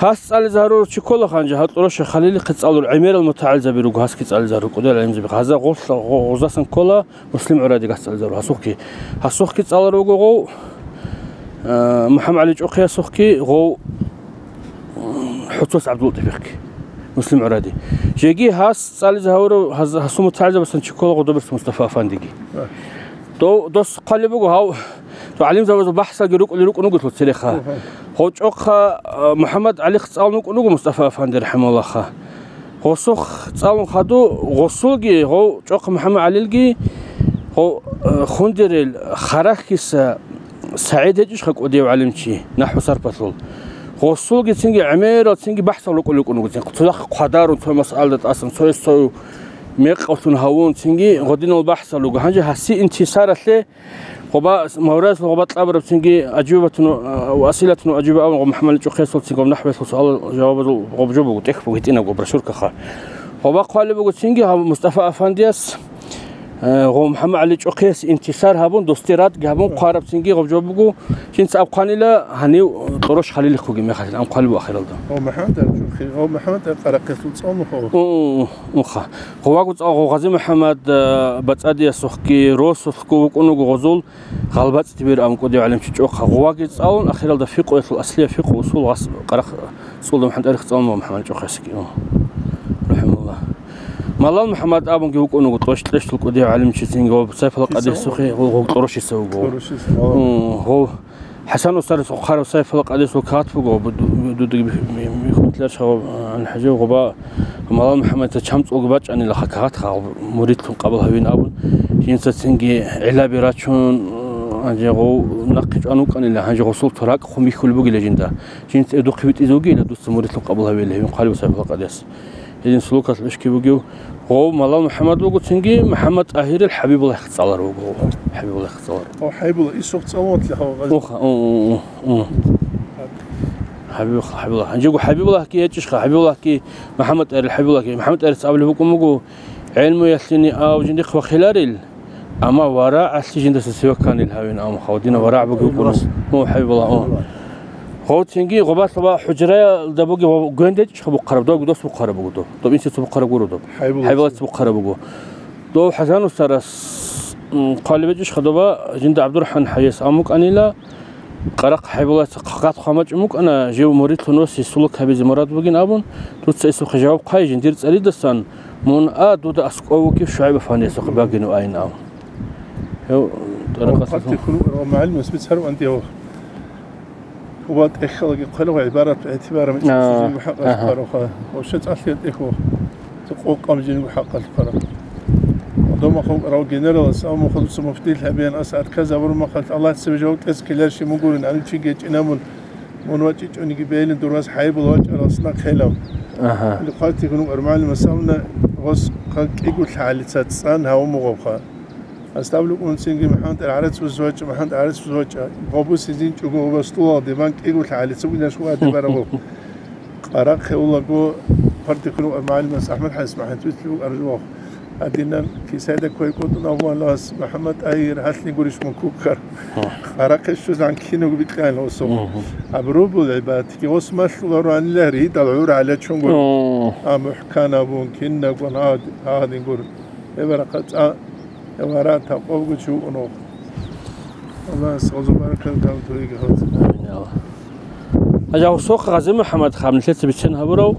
Гьас цӀализе гьарурав чи ккола гьанже, гьал ТӀурашев Халилихъе цӀалул гӀемерал мутагӀилзаби руго, гьасги цӀализе гьарурав кӀудиял гӀалимзаби. Гьаза гъолъа гъо-, гъозасан ккола Муслим ГӀуради гьас цӀализе гьарурав гьасухъги. Гьасухъги цӀаларав вуго гъов, э, МухӀаммад ГӀали ЧӀохъиясухъги, гъов, м, ХӀуцас ГӀабдуллатӀифихъги. Муслим ГӀуради. Жеги гьас цӀализе гьарурав гьаз-, гьасул мутагӀилзабасан чи ккола Гъудоберс Мустафа Афандиги. Дов-, дос хъвалеб буго гьав, гӀалимзабазул бахӀсалги рукӀулел рукӀун вуго цереха. Гьав чӀохъа, а, МухӀаммад ГӀалихъ цӀалун вукӀун вуго Мустафа Афанди рахӀимагьуллагьха. Гъосухъ цӀалун хаду, гъосулги, гъов чӀохъа МухӀаммад ГӀалилги, гъов, а, хундерел Харахьиса СагӀид гьечӀищха кӀудияв гӀалимчи, нахӀву сарпалъул. Гъосулги цинги гӀемерал цинги бахӀсал рукӀун рукӀун вуго цин. Цо хъвадарун, цо масъалда тӀасан, цояс цо мекъаллъун гьавун, цинги гъодинал бахӀсал руго. Гьанже гьасие интисаралъе Гъоба, Мавразул гъоба кьабураб цинги Аджубатун, а, ва Асилатун Аджуба абун гъоб МухӀаммад ЧӀохъесул цинги гъоб нахӀвелъул суал-жавабазул гъоб жо буго, тӀехь буго гьитӀинаб гъоб брошюркаха. Гъоба хъвалеб буго цинги гьаб Мустафа Афандияс, Э, гъо МухӀаммад ГӀали чӀохъияс интисар гьабун, досде радги гьабун хъвараб цинги гъоб жо буго, жинца аб хъванила гьанив Кьорош Халилихъуги мехалъ, ам хъвалиб ахиралда. О, МухӀаммад ГӀали чӀохъи, о, МухӀаммад ГӀали къарахъесул цӀалун хо. О, о, о, уха. Гъоваго цӀал гъо Гъази МухӀаммад, э, бацӀадиясухъги, росулъго вукӀун вуго гъозул, гъалбацӀ тибир ам кӀудияв гӀалимчи чӀохъа. Гъоваги цӀалун, ахиралда фикъуялъул аслия фикъу усул гъас къарахъ цӀулда МухӀаммад ТӀарих цӀалун ва МухӀаммад чӀохъесги. О, рахӀималлагь. Малал МухӀаммад абунги вукӀун вуго, тӀощ-, тӀощтул кӀудияв гӀалимчи цинги ва Сайфала Къадисухъе гъо-, гъо-, Кьорошиса вуго. Кьорошиса, о, гъо-, ХӀасан устарас хъварав Сайфала Къадисул кагъат буго, бу-, ду-, ду-, ду-, ми-, ми-, хутӀлар шагъаб, а, хӀажав гъоба Малал МухӀаммадица чамцӀулги бачӀанила ха кагъат ха, муридлъун къабул гьавин абун, жинца цинги гӀиллаби рачун, гьанже гъов нахъе чӀван вукӀанила, гьанже гъосул туракь хъумихьулеб бугила жинда. Жинца эдухъе витӀизе вугила, дуца муридлъун къабул гьавила, гьевин хъвалев Сайфала Къадияс. Гьедин сулукалъ ишки бугев гъов Малал МухӀаммад вуго, цинги МухӀаммад ТӀагьирил ХӀабибуллагь цӀалар вуго. ХӀабибуллагь цӀалар. О, ХӀабибуллагь, исухъ цӀалун ватлихъав гъаз. Уха, у, у, у, у. ХӀабибуллагь, ХӀабибуллагь. Гьанжего ХӀабибуллагьги гьечӀищха, ХӀабибуллагьги, МухӀаммад ТӀагьирил ХӀабибуллагьги. МухӀаммад ТӀагьирица абулеб букӀун буго, гӀелмуялъини ав жиндихъ ва хиларил, амма варагӀалъи жиндасе сиваканил гьавин, ам хадинав варагӀ бугев кӀуна. О, ХӀабибуллагь, о. Гъов цинги гъобалъ ва хӀужраялда бугеб гьав гвендечӀищха бухъараб, дов дос бухъараб буго дов. Дов инсица бухъараб гуро дов. ХӀайбулаца. ХӀайбулаца бухъараб буго. Дов ХӀасан устарас, м, хъвалеб гьечӀищха доба жинда ГӀабдурахӀман ХӀайяс ам букӀанила, къарахъ ХӀайбулаца хъат хъвамачӀун букӀана, жив муридлъун васи сулук гьабизе мурад бугин абун, дуца исухъе жаваб хъвай жиндир цӀаридасан, мун а, дуда аскӀов вукӀив ШугӀайб афандиясухъе багину айин ав. Гьев тӀарикъасул. Гьав хъатихъ хьул, гьав мугӀалимас бицарав анти гьав. Гьува тӀехьалаги хъвалев гӀибарат гӀетибараб мичӀ. А, жинго хӀакъалъ, аха, хъаравха. Вообще цӀалъи тӀехьо. Цо къокъаб жинго хӀакъалъ хъараб. Дома хъугӀарав генералас, амма хадуца муфтил гьабеян ас арказабур махалъ Аллагь цебе жаваб кьезе ккеларищ мугурин, гӀалимчи гечӀинабун, мун вачӀичӀониги бейилин дургьаз ХӀайбул вачӀарал снахъ гьелав. Аха. Или хъватихъ нугӀар мугӀалимас абуна, гъос хъа кӀиго лъагӀалица цӀан гьавун мугъабха. Гьас абулеб унцинги МухӀаммад ГӀарацӀ вузвачӀа, МухӀаммад ГӀарацӀ вузвачӀа, гъобусизин чӀуго гъоба стулалде, ман кӀиго лъагӀалица винаш ва дебараб. Къарахъе улаго, партихъун ва мугӀалимас АхӀмад ХӀайс МухӀаммад вицлъи вукӀаржувах. Гьадинан кисайда квай кӀутӀун аввалас, МухӀаммад ТӀагьир, гьалъни гурищ мун куккар. Къарахъе щвезан киного бикьайна осо. Абрубул гӀибадатги ос малъуларо анила ридал гӀур гӀалачунгур. А мухӀкан абун, киннагун гьад-, гьадингур. Эбарахъа цӀа Гьавара такъвабго чи вукӀун вуго. Аллагьас гъозу баракат ккан туриги халци. Амин, я Аллагь. Гьанже гьав сохъ Гъази МухӀаммад хаб нилъеца бицен гьабурав.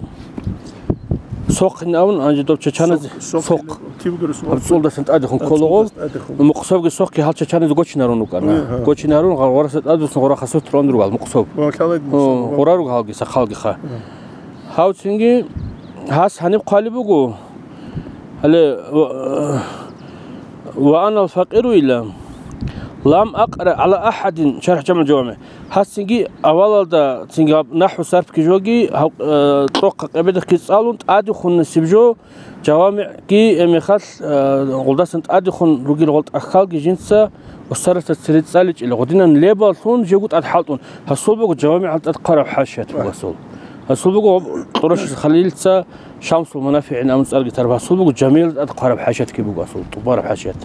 Сохъин абун, гьанже доб чачаназе сохъ, сохъ, сохъ. Киб гурус гьаб цӀулдасан тӀадехун, сохъ, кколаго. ЦӀулдасан тӀадехун. Мукъсобги сохъги гьал чачаназе гочинарун вукӀана. Гье, гье. Гочинарун гъа-, гъораса тӀадесан гъора хасут рон ругал мукъсоб. Гъо, лъала мукъсоб. Гъора ругал гьалги сахалги ха. Гье. Гьав цинги гьас гьаниб хъвалеб буго. Гьале, ва, ва анал факъиру ила, лам акъра гӀала ахӀадин, шархӀ ЖамгӀул ЖавамигӀ. Гьас цинги авалалда цинги гьаб нахӀву сарфги жоги, гьав, э, кьохъа къебедахъги цӀалун, тӀадехун насиб жо, жавамигӀги, э, мехалъ, э, гъулдасан тӀадехун ругел гъол тӀахьалги жинца устарасда цере цӀаличӀила, гъудинан лебаллъун жего тӀад хӀалтӀун. Гьасул буго жавамигӀал тӀад хъвараб хӀашият буго гьасул. Гьасул буго Кьурашис Халилица Шамсул МунафигӀин абун цӀарги тараб, гьасул буго Жамилат тӀад хъвараб хӀашиятги буго гьасул, тӀубараб хӀашият.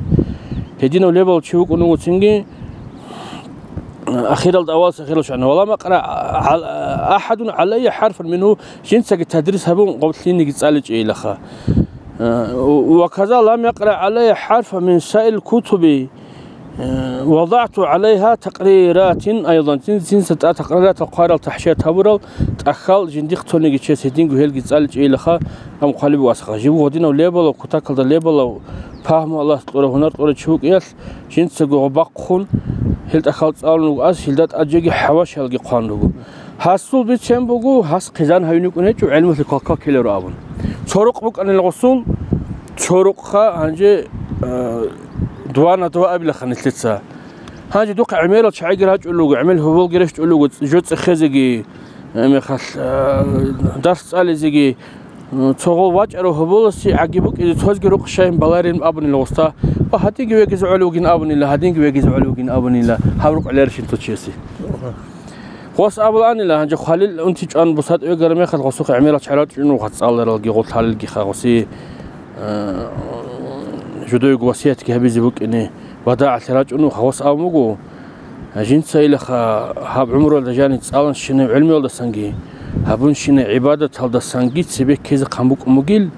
Гьединав лебал чи вукӀун вуго цинги, ахиралда авалас ахирал шагьарна, «Ва лам якъра гӀал-, ахӀадун гӀалайя хӀарфан мингьу», жинцаги тадрис гьабун, гъоблъиниги цӀаличӀейилаха. Ва каза лам якъра гӀалайя хӀарфан мин саирил кутуби, Э, вадагӀту гӀалайгьа такъриратин айдан, цин-, цинса тӀад такъриратал хъварал, тахӀшият гьабурал тӀахьал жиндихъ цониги чес гьединго гьелги цӀаличӀейилаха, ам хъвалиб васха. Жив гъодинав лебалав, кутакалда лебалав, пагьму Аллагьас кьурав, гьунар кьурав чи вукӀиялъ, жинцаго гъо бахъун, гьел тӀахьал цӀалун вуго ас, гьелда тӀад жеги хӀавашалги хъван руго. Гьасул бицен буго, гьас хъизан гьавин вукӀун гьечӀо, гӀелмулъи квалквал ккеларо абун. Цо рукъ букӀанила гъосул, цо рукъха гьанже, э, два на два абилаха нилъеца. Гьанже духъе гӀемерал чагӀиги рачӀулел руго, гӀемел гьоболги рещтӀулел руго, жо цӀехезеги, э, мехалъ, э, дарс цӀализеги, э, цо гъол вачӀарав гьоболасе гӀаги букӀизе цозги рукъ щайин баларин абунила гъоста. Ва гьадинги вегизе гӀолев вугин абунила, гьадинги вегизе гьолев вугин абунила, гьаб рукъ лерщин цо чиясе. Гъос абуланила, гьанже хвалил унти чӀван бусад вегара мехалъ гъосухъе гӀемерал чара чӀун вуха цӀаларалги гъол лъалилги ха гъоси, э, жодойго васиятги гьабизе букӀине, вадагӀалъе рачӀун вуха, гъос абун буго, жинца илаха гьаб гӀумруялда жаниб цӀаланщинаб гӀелмуялдасанги, гьабунщинаб гӀибадаталдасанги цебе ккезе хъан букӀун бугил,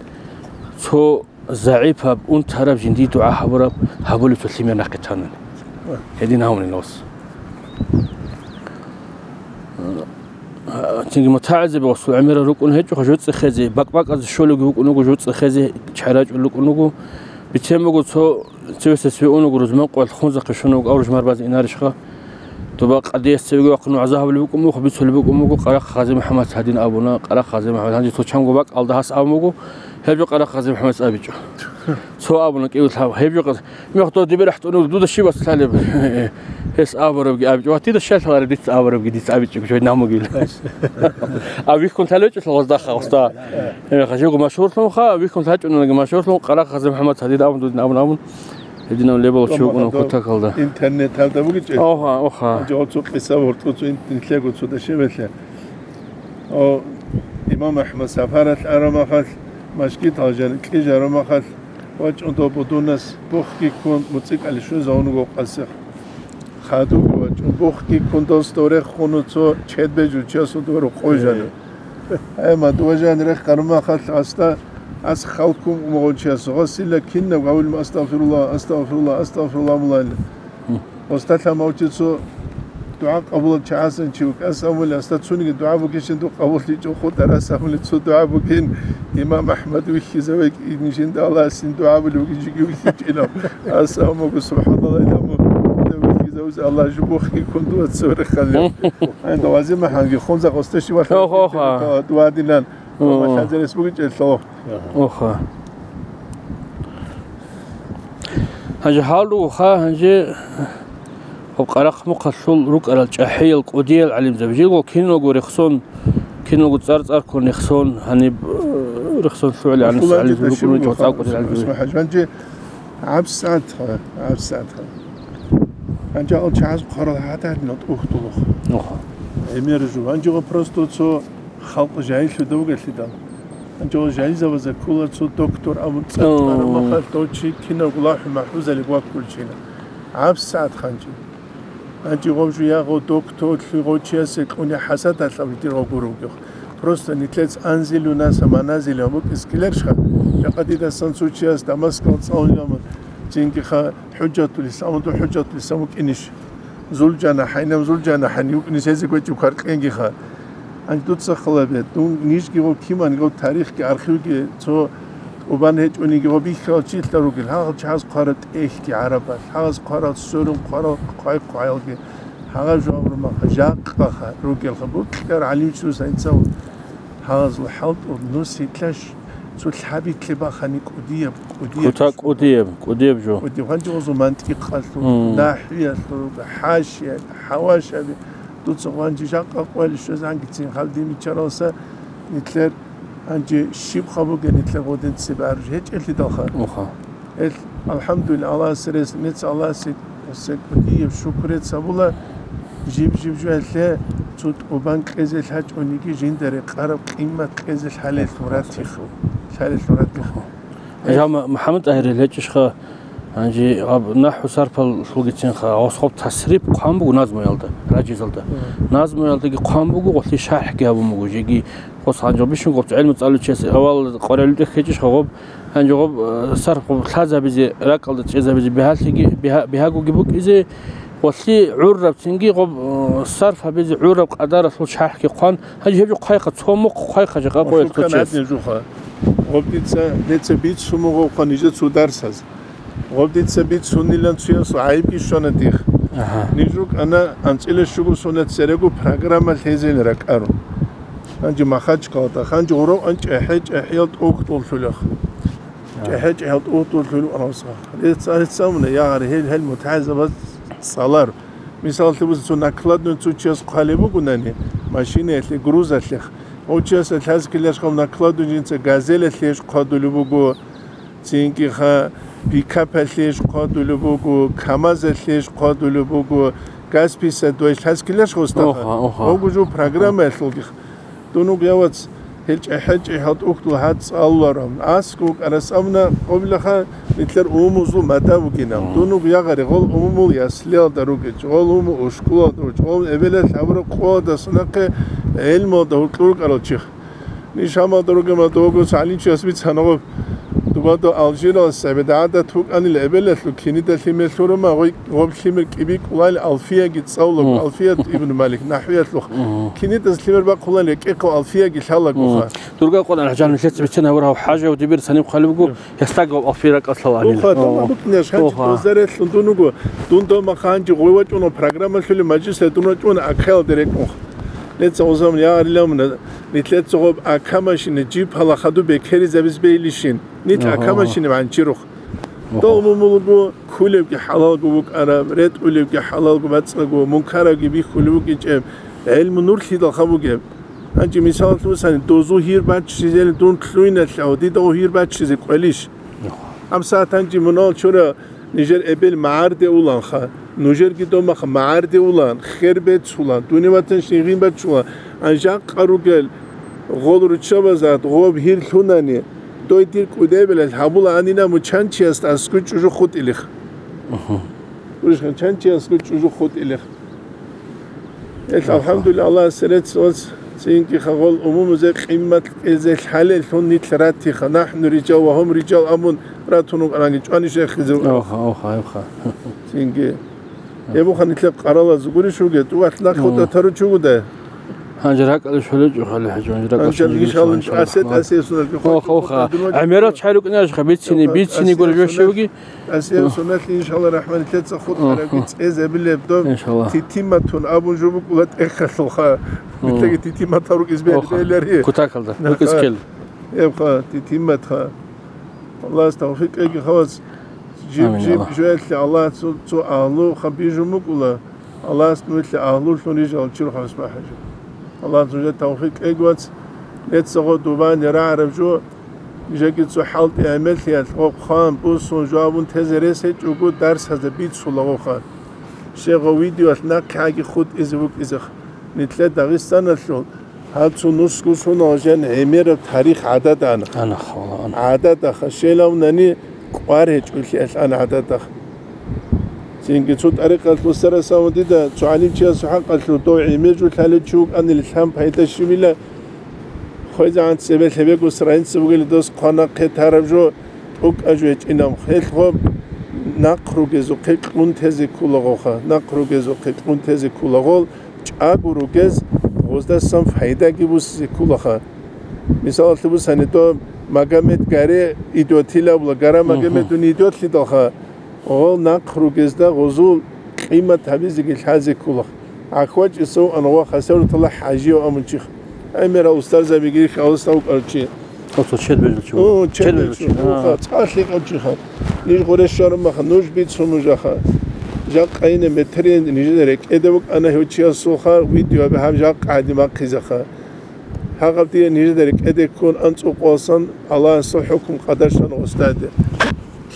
цо загӀипаб, унтараб жиндие дугӀа гьабураб гьабулев цо лъимер нахъе танани. Гьедин гьавунин гъос. Цинги мутагӀилзаби гъосул гӀемерал рукӀун гьечӀоха, жуцӀихъезе, бакӀ-бакӀазе щолевги вукӀун вуго, жуцӀихъезе чарачӀул рукӀун вуго. Бицен буго, цо цевесес веун вуго, рузман къоялъ хунзахъе щун вуго, авружмар базе инарищха? Доба къадияс цевеги вахъун вагӀза гьабулеб букӀун буго, бицулеб букӀун буго, Къарахъ Гъази МухӀаммад гьадин абуна, Къарахъ Гъази МухӀаммад гьанже цо чанго бакӀалда гьас абун буго, гьеб жо Къарахъ Гъази МухӀаммадас абичӀо. Цо абуна кӀиго лъаб, гьеб жо къаз-, мехтав дибирахӀ тӀунур, дуда щиб ас лъалеб? Гьес абурабги абичӀо. Ва дида щай лъалареб дица абурабги дица абичӀого жой намугил. А вихьун лъалечӀо лъалгъаздаха, уста. Э, хажиго машгьурлъунха, вихьун лъачӀунаги машгьурлъун, Къарахъ Гъази МухӀаммад гьадин абун дудин абун абун. Гьединав лебал чи вукӀуна кутакалда. Интернеталда бугичӀел. Оха, оха. Жо цо къиса вортӀу цо ин-, нилъего цо дашевелъе. О, имам АхӀмад сапаралъ арамахалъ, машгитал жан кьижарамахалъ, вачӀун доб будунас бухги ккун, муцӀикӀали щвезавун вуго къасихъ. Хадуги вачӀун, бухги ккун, дос дов рехун цо чедбе жучасул дов рукъой жана. Гьай, мадув жан рехъ гъарумахалъ аста, ас халккун умагъунчияс гъосила кинаб гьавилма астагъфируллагь, астагъфируллагь, астагъфируллагь мулайла. Осталъа мавчи цо дугӀа къабулал чагӀасан чи вукӀас амули, аста цуниги дугӀа бугищин дур къабуллъичӀо хутӀар ас амули цо дугӀа бугин, имам АхӀмад вихьизаве кӀин жинда Аллагьасин дугӀа були бугин жиги вихьичӀила. Ас амуго, субхӀаналлагь, иламу, вихьизавуз Аллагь жо бухги ккун дуа цо рехалев. Ай, да вази маханги, хунза къосте ши вахъа. Ох, ох, а. Дуа дилан. Ох. Ва хазарес бугин чӀелъо. Оха. Гьанже гьал руго ха, гьанже гьаб Къарахъ Мухъалъул рукӀарал чӀахӀиял кӀудиял гӀалимзаби. Жего киналго рехсон, киналго цӀар-цӀарккун рехсон, гьаниб, э, рехсон лъугӀали гӀанас гӀалимзаби рукӀуна, чӀвацӀал кӀудиял гӀалимзаби. ГьанжегӀан гӀабсагӀат ха, гӀабсагӀат ха. Гьанже ал чагӀаз хъварал гьатӀадинал тӀухьдулухъ. Оха. ГӀемер жо. Гьанже просто цо халкъ жагьиллъуда вугелъидал. Гьанже жагьилзабазда ккола цо доктор абун цӀакъ О. Махалъ дов чи кинавго лахӀу-махӀбузалиги ваккулчина. ГӀабсагӀат ханчи. Гьанже гъов жуягъо докторлъи гъов чиясе кьуни хӀасадалъ абитӀир гъов гуро вугев. Просто нилъец анзилунаса маназил гьаб букӀис ккеларищха? Жакъа дидасан цо чияс Дамаскал цӀалулев, цинги ха ХӀужатул Ислам, хӀужатул Ислам вукӀинищ? Зулжана хӀайнам, Зулжана хӀани вукӀине сезе гьечӀеб кваркьенги ха. Гьанже дуца халабе, дун нижги гъо киман гъо тарихги, архивги цо тӀубан гьечӀониги гъо бихьарал чилъа ругел, гьагъал чагӀаз хъварал тӀехьги гӀарабал, гьагъаз хъварал сверун хъварал хъвай-хъваялги, гьагъа жаваб рума ха, жакъа ха, ругел ха, букьар гӀалимчи руса инсан. Гьазул хӀалтӀул нус гьитлъаш цо лъабитлъи бахани кӀудияб, кӀудияб. Кута кӀудияб, кӀудияб жо. КӀудияб. Гьанже гьазул мантикъалъул, Мм. нахӀвиялъул, хӀашияб, хӀавашаби. Дуца гьанже жакъа къвалищ жезангицин халдин бичаралса, нилъер гьанже щиб хабуге нилъер гъодин цебе арж гьечӀелъидалха. Уха. Эл, алхӀамдулиллагь, Аллагьасе рес, мец Аллагьасе, се кӀудияб шукрец гьабула, жиб-жиб жуялъе цо тӀубан кьезе лъачӀониги жинда рекъараб къимат кьезе лъалелъул ратихъ, лъалелъул ратихъ. Жа Ма-, МухӀаммад ТӀагьирил гьечӀищха, гьанже гьаб нахӀву сарфаллъулгицинха, гъос гъоб тасриф хъван буго назмуялда, ражизалда. Мгм. Назмуялдаги хъван буго, гъолъи шархӀги гьабун буго, жеги гъос гьанже бищун гъоб гӀелму цӀалучиясе авал къваригӀел тӀехь гьечӀищха гъоб, Гьанже гъоб, э, сарф гъоб лъазабизе, ракӀалда чӀезабизе бигьалъиги, бигьа-, бигьагоги букӀизе, гъолъи гӀуррабцинги гъоб, э, сарф гьабизе гӀурраб къадаралъул шархӀги хъван, гьанже гьеб жо хъвайха, цо мухъ хъвайха жакъа къоялъ кочес. Гъоб дица, дица бицун буго хъван нижер цо дарсаз. Гъоб дица бицунилан цоясул гӀайибги щвана дих. Агьа. Ниж рукӀана анцӀила щуго сона церего программа лъезейин ракӀарун. Гьанже Махачкалада, гьанже гъоров ан чӀехӀе-чӀехӀиял тӀохьдуллъулех. ЧӀехӀе-чӀехӀел тӀуртӀурлъур вукӀаралса. Рецц-, рецц-, гьел, гьел мутагӀилзабаз цӀалар. Мисаллъи бусин, цо накладной цо чияс хъвалеб бугунани, машинаялъе, грузалъе, гьев чияс лъаз ккеларищха накладной жинца газелалъе иш хъвадулеб буго, цинги-ха пикапалъе иш хъвадулеб буго, камазалъе иш хъвадулеб буго, газ пятьдесят два лъаз ккеларищха устаха? Оха, оха. Гьев гужу программаялъулги. Дун вуго, я вац, ХӀечӀи-хӀечӀи гьал тӀухьдул гьад цӀалуларав. АскӀов вукӀарас абуна, къобилаха, нилъер умумузул мада бугинаб. Мгм. Дун вуго ягъари, гъол умумул яслиялда ругич, гъол умумул ушкулалда ругич, гъол эбелалъ гьабураб къоялдаса нахъе гӀелмуялда гьуркьур рукӀарал чиха. Ниж гьамалда ругема дого гӀалимчияс бицана гъоб. Дубадо Алжиралас гӀебеда гӀадат букӀанила эбелалъул кинида лъимер лъурума, гъой-, гъоб лъимер кӀибикӀулал Алфияги цӀалулаго, Мгм. Алфият ибн Малик, нахӀвиялъухъ. Мгм. Кинидаз лъимер бахъулан рекӀехъо Алфияги лъалагоха. Мгм. Дургъа къван, ГӀалимжан, нилъеца бицен гьавурав ХӀажав дибир цани хъалибго, гьесдаго Алфия ракӀалъал гӀалим. Уха, О. тамагьбукӀнеш, гьанчи Оха. дозарелъун дун вуго, дун дов махъа гьанчи гъой вачӀуна программа лъули мажлисалда дун вачӀуна акаялда рекӀунха. Леца гъозамун ягъарилавмуна, нилъеца гъоб акамашине жиб гьала хаду бекеризабиз бейлищин, нилъ Оха. акамашине ванчирухъ. Оха. Дов умумулго, ккулебги хӀалалго букӀараб, ретӀулебги хӀалалго бацӀцӀаго, мункарабги бихьулеб букӀинчӀеб, гӀелму нур лъидалха бугеб. Гьанчи мисалалъе бусани, дозу гьир баччизелин дун лъуйналъа, дидаго гьир баччизе кӀвелищ? Оха. Гьабсагьат гьанчи мунагьал чура нижер эбел магӀарде уланха, нужерги домахъ магӀарде улан, хер бецулан, дуневатанщин гъин бачулан, ан жакъа ругел гъол руччабазат гъоб гьир лъунани, дой дир кӀудебилал гьабула анина мучанчиясда аскӀу чӀужу хутӀилих. Мгм. Уришхан чанчиясго чӀужу хутӀилех. Эл, Аха. алхӀамдулиллагь, Аллагьас рецц вац, цинги хагъол умумузе къиммат кьезе лъалеллъун нилъ ратиха, нахӀну рижал ва гьум рижал абун ратун рукӀаранги чӀвани шехизе рукӀарах. Оха, оха, оха. Цинги. Гьебухъа нилъер къаралаз гурищ вугев, тӀувалъ нахъ Мгм. хутӀа тару чугуда? Гьанже ракӀалде щолечӀо хали хӀажи, гьанже ракӀалде Гьанже щолечӀо, иншалла, иншалла, иншалла. асет, асет сунал Оха, оха. ГӀемерал чай рукӀине, бицини, Оха, бицини асет гури сунал. жощавги. Асиял Мгм. сунелъи, иншалла, рахманилъеца хутӀарабги Мгм. цӀезабилеб доб Иншалла. титиматун абун жо букӀула тӀехьалъулха. Мгм. Нилъеги титимат гьарукӀиз бе-, Оха. белари. Кутакалда, Наха. рукӀиз ккел. Эбха, титиматха. Аллагьас тавфикъ кьеги хавас. Жиб, Амин, жиб Аллагь. жоялъе Аллагь цо, цо агьлу хабижун букӀула. Аллагьас нугьлъи агьлулъун рижал чурхъас бахӀи жо. Аллагьас нужер тавфикъ кьеги вац. Нецаго дубани рагӀараб жо. Нижеги цо хӀалтӀи гӀемерлъиялъ гъоб хъван, бусун, жавабун тезе рес гьечӀого дарсазда бицулагъоха. Щегъо видеоялъ нахъегӀаги хутӀизе вукӀизех. Нилъер Дагъистаналъул гьаб цо нусго сунал жан гӀемераб тарих гӀадада ана. Ана, хавала, ана. ГӀададаха, щелавнани кӀвар гьечӀолъиялъ ана гӀададах. Цинги цо тӀарикъалъ устарас авун дида, цо гӀалимчиясул хӀакъалъулъ дов гӀемер жо лъалев чи вукӀанили лъан пайда щибила, хвезегӀан цебе лъебего страница бугели дос хъван нахъе тараб жо, тӀокӀаб жо гьечӀинаб. Гьелъго нахъ ругезухъе кьун тезе ккулагъоха, нахъ ругезухъе кьун тезе ккулагъол, чӀаго ругез гъоздасан пайдаги бусизе ккулаха. Мисалалъе бусани, дов Магомед Гаре идиотилабула, Гара Мгм. Магомедун идиотлъидалха, гъол нахъ ругезда гъозул къимат гьабизеги лъазе ккулах. ГӀахьвачӀисав ан ва хасаврутала хӀажияв амун чихъ. ГӀемерал устарзабиги халасда вукӀарав чи. Оцо чед бежал чи. О, чед Чед бежал бежал чи. чи. А. Уха, цӀалъи къав чихъ. Ниж гъуре щвараб маха, нуж бицун нужаха. Жакъа ине метрин нижеда рекӀеда вукӀана гьев чиясулха, видео абе гьаб жакъа гӀадин бахъизаха. Гьагъаб дие нижеда рекӀеде ккун анцӀукъосан Аллагьасул хӀукму къадаршан гъосдаде.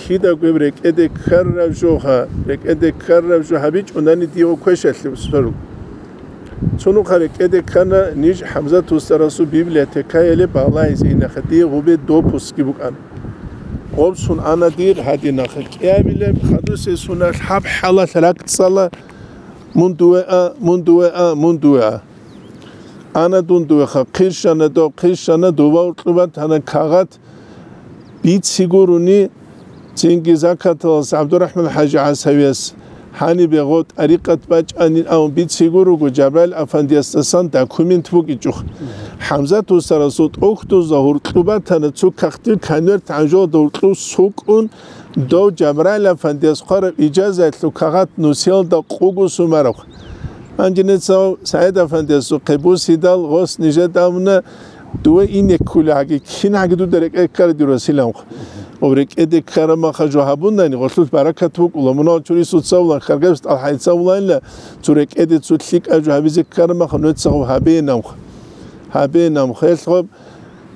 Кидаго гьеб рекӀеде ккараб жоха, рекӀеде ккараб жо гьабичӀунани дие квешалъе сверу. Цунухъа рекӀеде ккана ниж ХӀамзат устарасул библиотекаяле балагьизе инаха, дие гъубе допускги букӀана. Гъобсун ана дир гьадинаха. КӀиабилеб хадусесуналъ гьаб хӀалалъ ракӀцӀала, мун дуе а, мун дуе а, мун дуе а. Ана дун дуеха, хъирщана дов, хъирщана дова уркьубат гьана кагъат бици гуруни, цинги закаталас ГӀабдурахӀман ХӀажи ГӀасавияс гьанибе гъо тӀарикъат бачӀанин абун бици гуруго, Жабраил афандиясдасан документ букӀичӀухъ. ХӀамзат устарасул тӀохьдузда гьуркьубатана цо кахтил конверт гӀанжолда гьуркьуб сукӀун, дов Жабраил афандияс хъвараб ижазаялъул кагъат нусиялда къуго сумараб. Гьанже нецав СагӀид афандиясухъе бусидал гъос нижеда абуна, дуе ине ккули гьаги, кин гьаги дуда рекӀе ккара дир василанхъ. Ва рекӀеде ккара маха жо гьабунани, гъолъулъ баракат букӀула, мунагьал чурисуца улан, хъаргъеб тӀалхӀайца уланила, цо рекӀеде цо лъикӀаб жо гьабизе ккара маха, нугьеца гъоб гьабеинамха. Гьабеинамха, гьелъ гъоб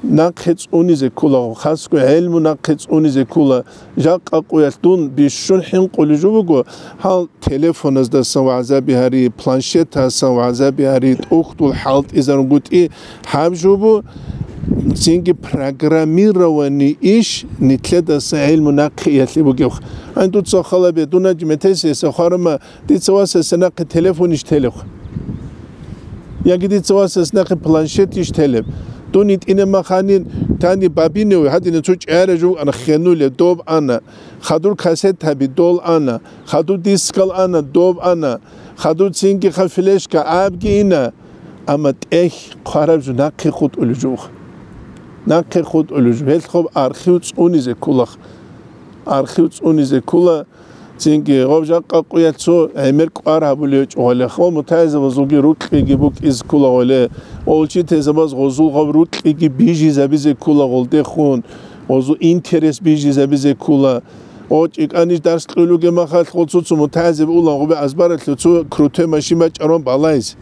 нахъе цӀунизе ккула, хасго гӀелму нахъе цӀунизе ккула. Жакъа къуялъ дун бищун хӀинкъулеб жо буго, гьал телефоназдасан вагӀзаби гьари, планшетасан вагӀзаби гьари, тӀухьдул хӀалтӀизарунгутӀи гьаб жо бу, Цинги программированный иш нилъедаса гӀилму нахъе иялъе бугев. Гьанже дуца халабе, дунаги метесиеса хварама, дица васаса нахъе телефонищ телев? Яги дица васас нахъе планшетищ телеб? Дун итӀинаб маханин тани бабинев, гьадина цо чӀара жугьана хенуле, доб ана. Хадур кассетаби дол ана. Хадур дискал ана, доб ана. Хадур цинги ха флешка абги ина. Амма тӀехь хъвараб жо нахъе хутӀулев жугьа. Нахъе хутӀулев жугьа. Гьелъ хоб архив цӀунизе ккулах. Архив цӀунизе ккула. Цинги гъов жакъа къуялъ цо гӀемер кӀвар гьабулев чӀугъалех. О, мутагӀилзабазулги рукьиги букӀизе ккула гъоле. О, учительзабаз гъозул гъов рукьиги бижизабизе ккула гъолдехун. Гъозул интерес бижизабизе ккула. О, чӀикӀанищ дарс кьулуге махалъ гъол цо-цо мутагӀилзаби улан гъубе азбаралъув цо крутой машин бачӀарун балайз.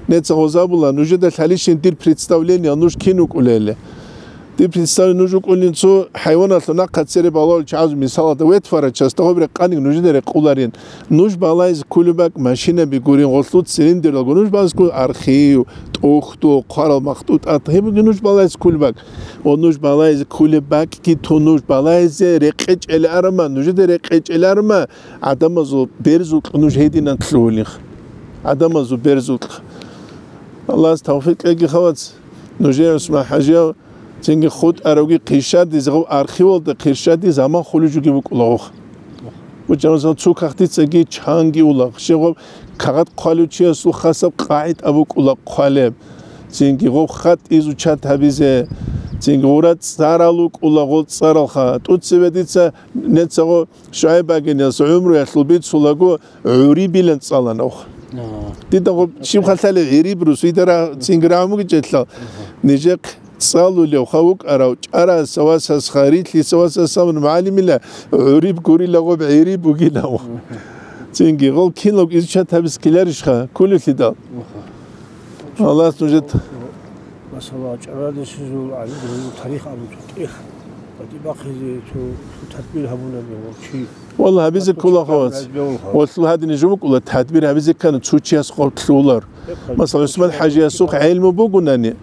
Неца гъозабула, нужеда лъалищин дир представление, нуж кин вукӀулели. Дир представление нуж вукӀулин цо хӀайваналъул нахъа цере балал чагӀаз мисалалда ветфара часто гъоб рекъаниг нужеда рекъуларин. Нуж балайз кулеб бакӀ машинаби гурин, гъолъул цилиндралго нуж балайз кул архив, тӀухьдул, хъварал махтӀутӀат, гьебги нуж балайз кулеб бакӀ. О, нуж балайз кулеб бакӀги ту нуж балайзе рекъечӀел арама, нужеда рекъечӀел арама, гӀадамазул берзукь нуж гьединан лъугьулих. ГӀадамазул берзукь. Аллагьас тавфикъ кьеги хавац. Нужее ГӀусман-хӀажияв цинги хутӀаравги хъирщадизе, гъов архивалда хъирщади заман хулужуги букӀулагъух. БучӀа, масала, цо кагътицаги чанги улагъ. Щегъов кагъат хъвалев чиясул хасаб къагӀид абукӀула хъвалеб. Цинги гъов хатӀ изучат гьабизе. Цинги гъура цӀарал вукӀула гъол цӀаралха. ТӀуцебе дица нецагъо ШугӀайб багиниялъ гӀумруялъул бицулаго гӀурибилан цӀаланавха. Дида гъоб щиб халъали гӀириб рус, идара цинги рагӀмуги чӀелъал. Нижехъ цӀалулев ха вукӀарав чӀараса васасха, рилълъиса васасамун мугӀалимила гӀуриб гурила гъоб гӀириб бугилав. Цинги гъол кинлаг изучат гьабиз ккеларищха, кколелъидал. Аллагьас нужер Масала, чӀарадесизул гӀалимзабазул тарих абун цо тӀех, батӀи бахъизе цо, цо тадбир гьабунаби гъов чи. Валла, гьабизе ккола хавац. Гьабизе ккола. Валла, гьадине жо букӀула, тадбир гьабизе ккани цо чияс хъвалулар. Масала, ГӀусман-хӀажиясухъ гӀелму бугунани,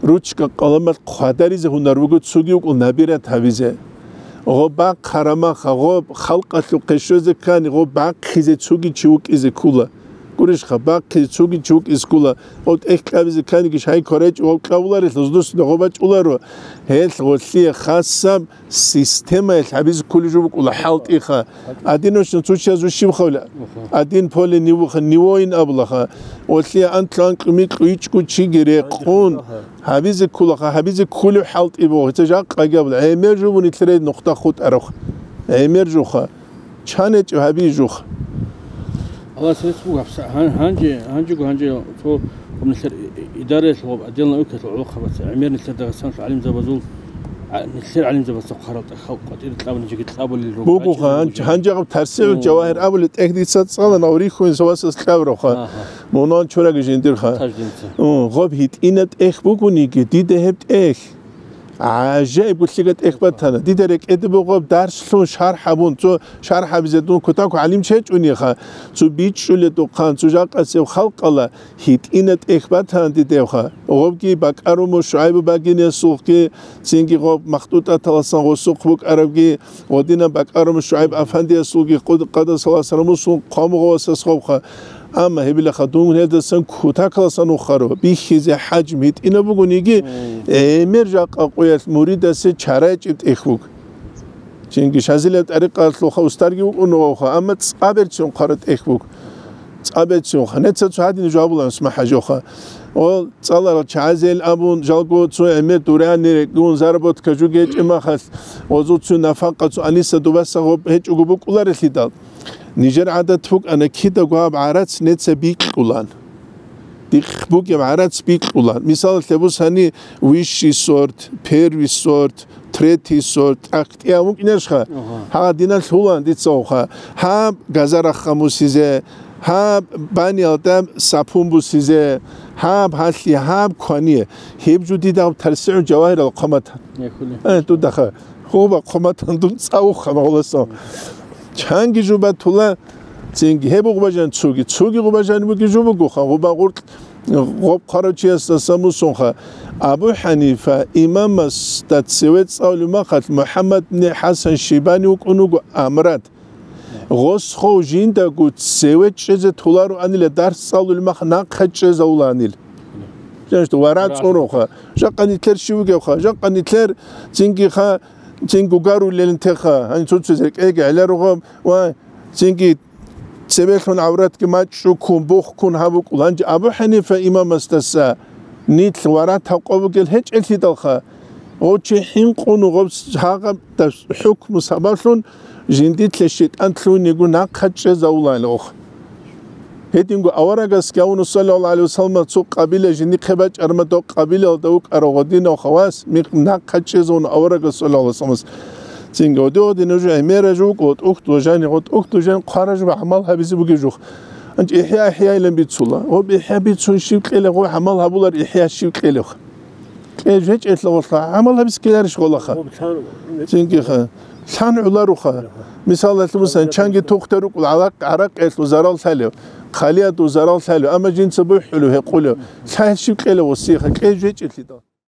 ручка-къаламалъ хъвадаризе гьунар буго, цоги вукӀул набират гьабизе. Гъоб бахъ гьарамаха, гъоб халкъалъухъе щвезе ккани, гъоб бахъизе цоги чи вукӀизе ккула. Гурищха, бахъи цоги чи вукӀизе ккула, гъов тӀехь кьабизе кканиги шай кварачӀо гъов кьавуларелъул, дус дагъо бачӀуларо, гьелъ гъолъие хасаб системаялъ гьабизе кколеб жо букӀула хӀалтӀиха. Один ночно цо чияз ущиб хавла, один поле нивуха, нивоин абулаха. Гъолъие анлъу-анкьу-микьу ичӀго чиги рекъун гьабизе ккулаха, гьабизе кколев хӀалтӀи буго. Гьеца жакъаги абула, гӀемер жо буни лъирай нухда хутӀарав. ГӀемер жоха. Чан гьечӀо гьабизе жух? Аллагьас рецц буго гьабса. Гьан-, гьанже, гьанжего гьанже цо гъоб нилъер и-, и-, идараялъул гъоб отдел наукаялъул гӀолохъабаца, гӀемер нилъер Дагъистаналъул гӀалимзабазул, а, нилъер гӀалимзабазда хъварал тӀахьал къватӀир кьабулеб жеги кьабулел руго. Буго гьанже, гьанже гъаб тарсигӀул жавагьир абулеб тӀех дица цӀалан, гьав рихьун ва васас кьаб рохъа. Мунагьал чураги жиндирха. Таждинца. Гъоб гьитӀинаб тӀех бугониги, дида гьеб тӀех. ГӀажаиб гулъига тӀех батана. Дида рекӀеде бугеб дарслъун шархӀ гьабун, цо шархӀ гьабизе дун кутаку гӀалим чечӀуниха, цо бичӀчӀуледухъан, цо жакъасеб халкъала гьитӀина тӀех батана дидевха. Гъобги бакӀаруму ШугӀайбу багинесухъги, цинги гъоб махтӀутӀаталасан гъосухъ букӀарабги, гъодинаб бакӀаруму ШугӀайб афандиясулги къуд-, къадасаласан мусун хъвамугъавасас гъобха. Амма гьебилаха дун гьелдасан кутакаласан ухаро, бихьизе хӀажм гьитӀинаб бугониги, гӀемер жакъа къуялъ муридасе чарайчӀеб тӀех буго. Чинги шазилаб тӀарикъалъулха устарги вукӀун вавха, амма цӀаберцин хъара тӀех буго. ЦӀаберцинха. Неца цо гьадин жавабулан смахӀажоха. О, цӀаларал чагӀазел абун, жалго цо гӀемер дурани рекӀун заработка жугечӀеб махалъ, озуцу нафакъа цо аниса дубаса гъоб гьечӀого букӀуларелъидал. Нижер гӀадат букӀана кидаго гьаб гӀарац неца бикьулан. Дихъ бугеб гӀарац бикьулан. Мисалалъе бусани, высший сорт, первый сорт, третий сорт, тӀахьтӀи абун кӀинашха. Гьа, диналъ гьулан дица уха. Гьаб газарахха мусизе, гьаб баниялда сапун бусизе, гьаб гьалъи, гьаб квание. Гьеб жо дида гьаб тарсигӀу жавагьирал хъаматан. Э, дудаха. Гъоба хъуматан дун цӀавухъа гъолосан. Чанги жо батула, цинги гьеб гъубажан цуги, цуги гъубажан буги жо бугоха, гъуба гъуркь Гъоб хъарав чиясдаса мусунха, Абу ХӀанифа имамасда цеве цӀалулеб махалъ МухӀаммад ибн ХӀасан Шайбани вукӀун вуго амрад. Гъос хов жиндаго цеве чӀезе толароанила, дарс цӀалулеб мах нахъа чӀезавулаанил. Жаништа вара цӀуруха. Жакъа нилъер щив вугевха? Жакъа нилъер цингиха, цинги угарулелин теха. Гьанин цуцазе кӀеги гӀеларугъаб ва цинги цебелъун гӀавратги мачӀчӀуккун, бухкун гьабукӀул. Гьанже Абу ХӀанифа имамасдаса нилъ вара тавкъо бугел гьечӀелъидалха, гъов чи хӀинкъун гъоб гьагъаб хӀукму сабаблъун жиндилъе шайтӀан лъугьиниго нахъа чӀезавулаанилъухъ. Гьединго аварагасги авуна, саллаллагьу гӀалайгьи вассаллам, цо къабила жиндихъе бачӀарма, дов къабилалда вукӀарав гъодинав хавас микъ нахъа чӀезавуна аварагас, саллаллагьу гӀалайгьи вассаллам. Цинги гъоди-гъоди нуж гӀемераж вукӀо, тӀухьдул жани, гъо тӀухьдул жан хъвараж ва гӀамал гьабизе бугеб жух. Анчи ихӀя-ихӀя илан бицула. Гъоб ихӀя бицун щив кьелев, гъо гӀамал гьабулар ихӀя щив кьелев? Кье жечӀелъа гъолъа, гӀамал гьабиз ккеларищ гъолаха? Цинги ха. Лъан гӀоларуха. Мисалалъе, мусан, чанги тухтар рукӀул гӀаракъ-, гӀаракъиялъул зарал лъалев, хъалиядул зарал лъалев, амма жинца бухӀулев, гьекъулев. Лъай щив кьелев гъосиха, кье жечӀелъидал.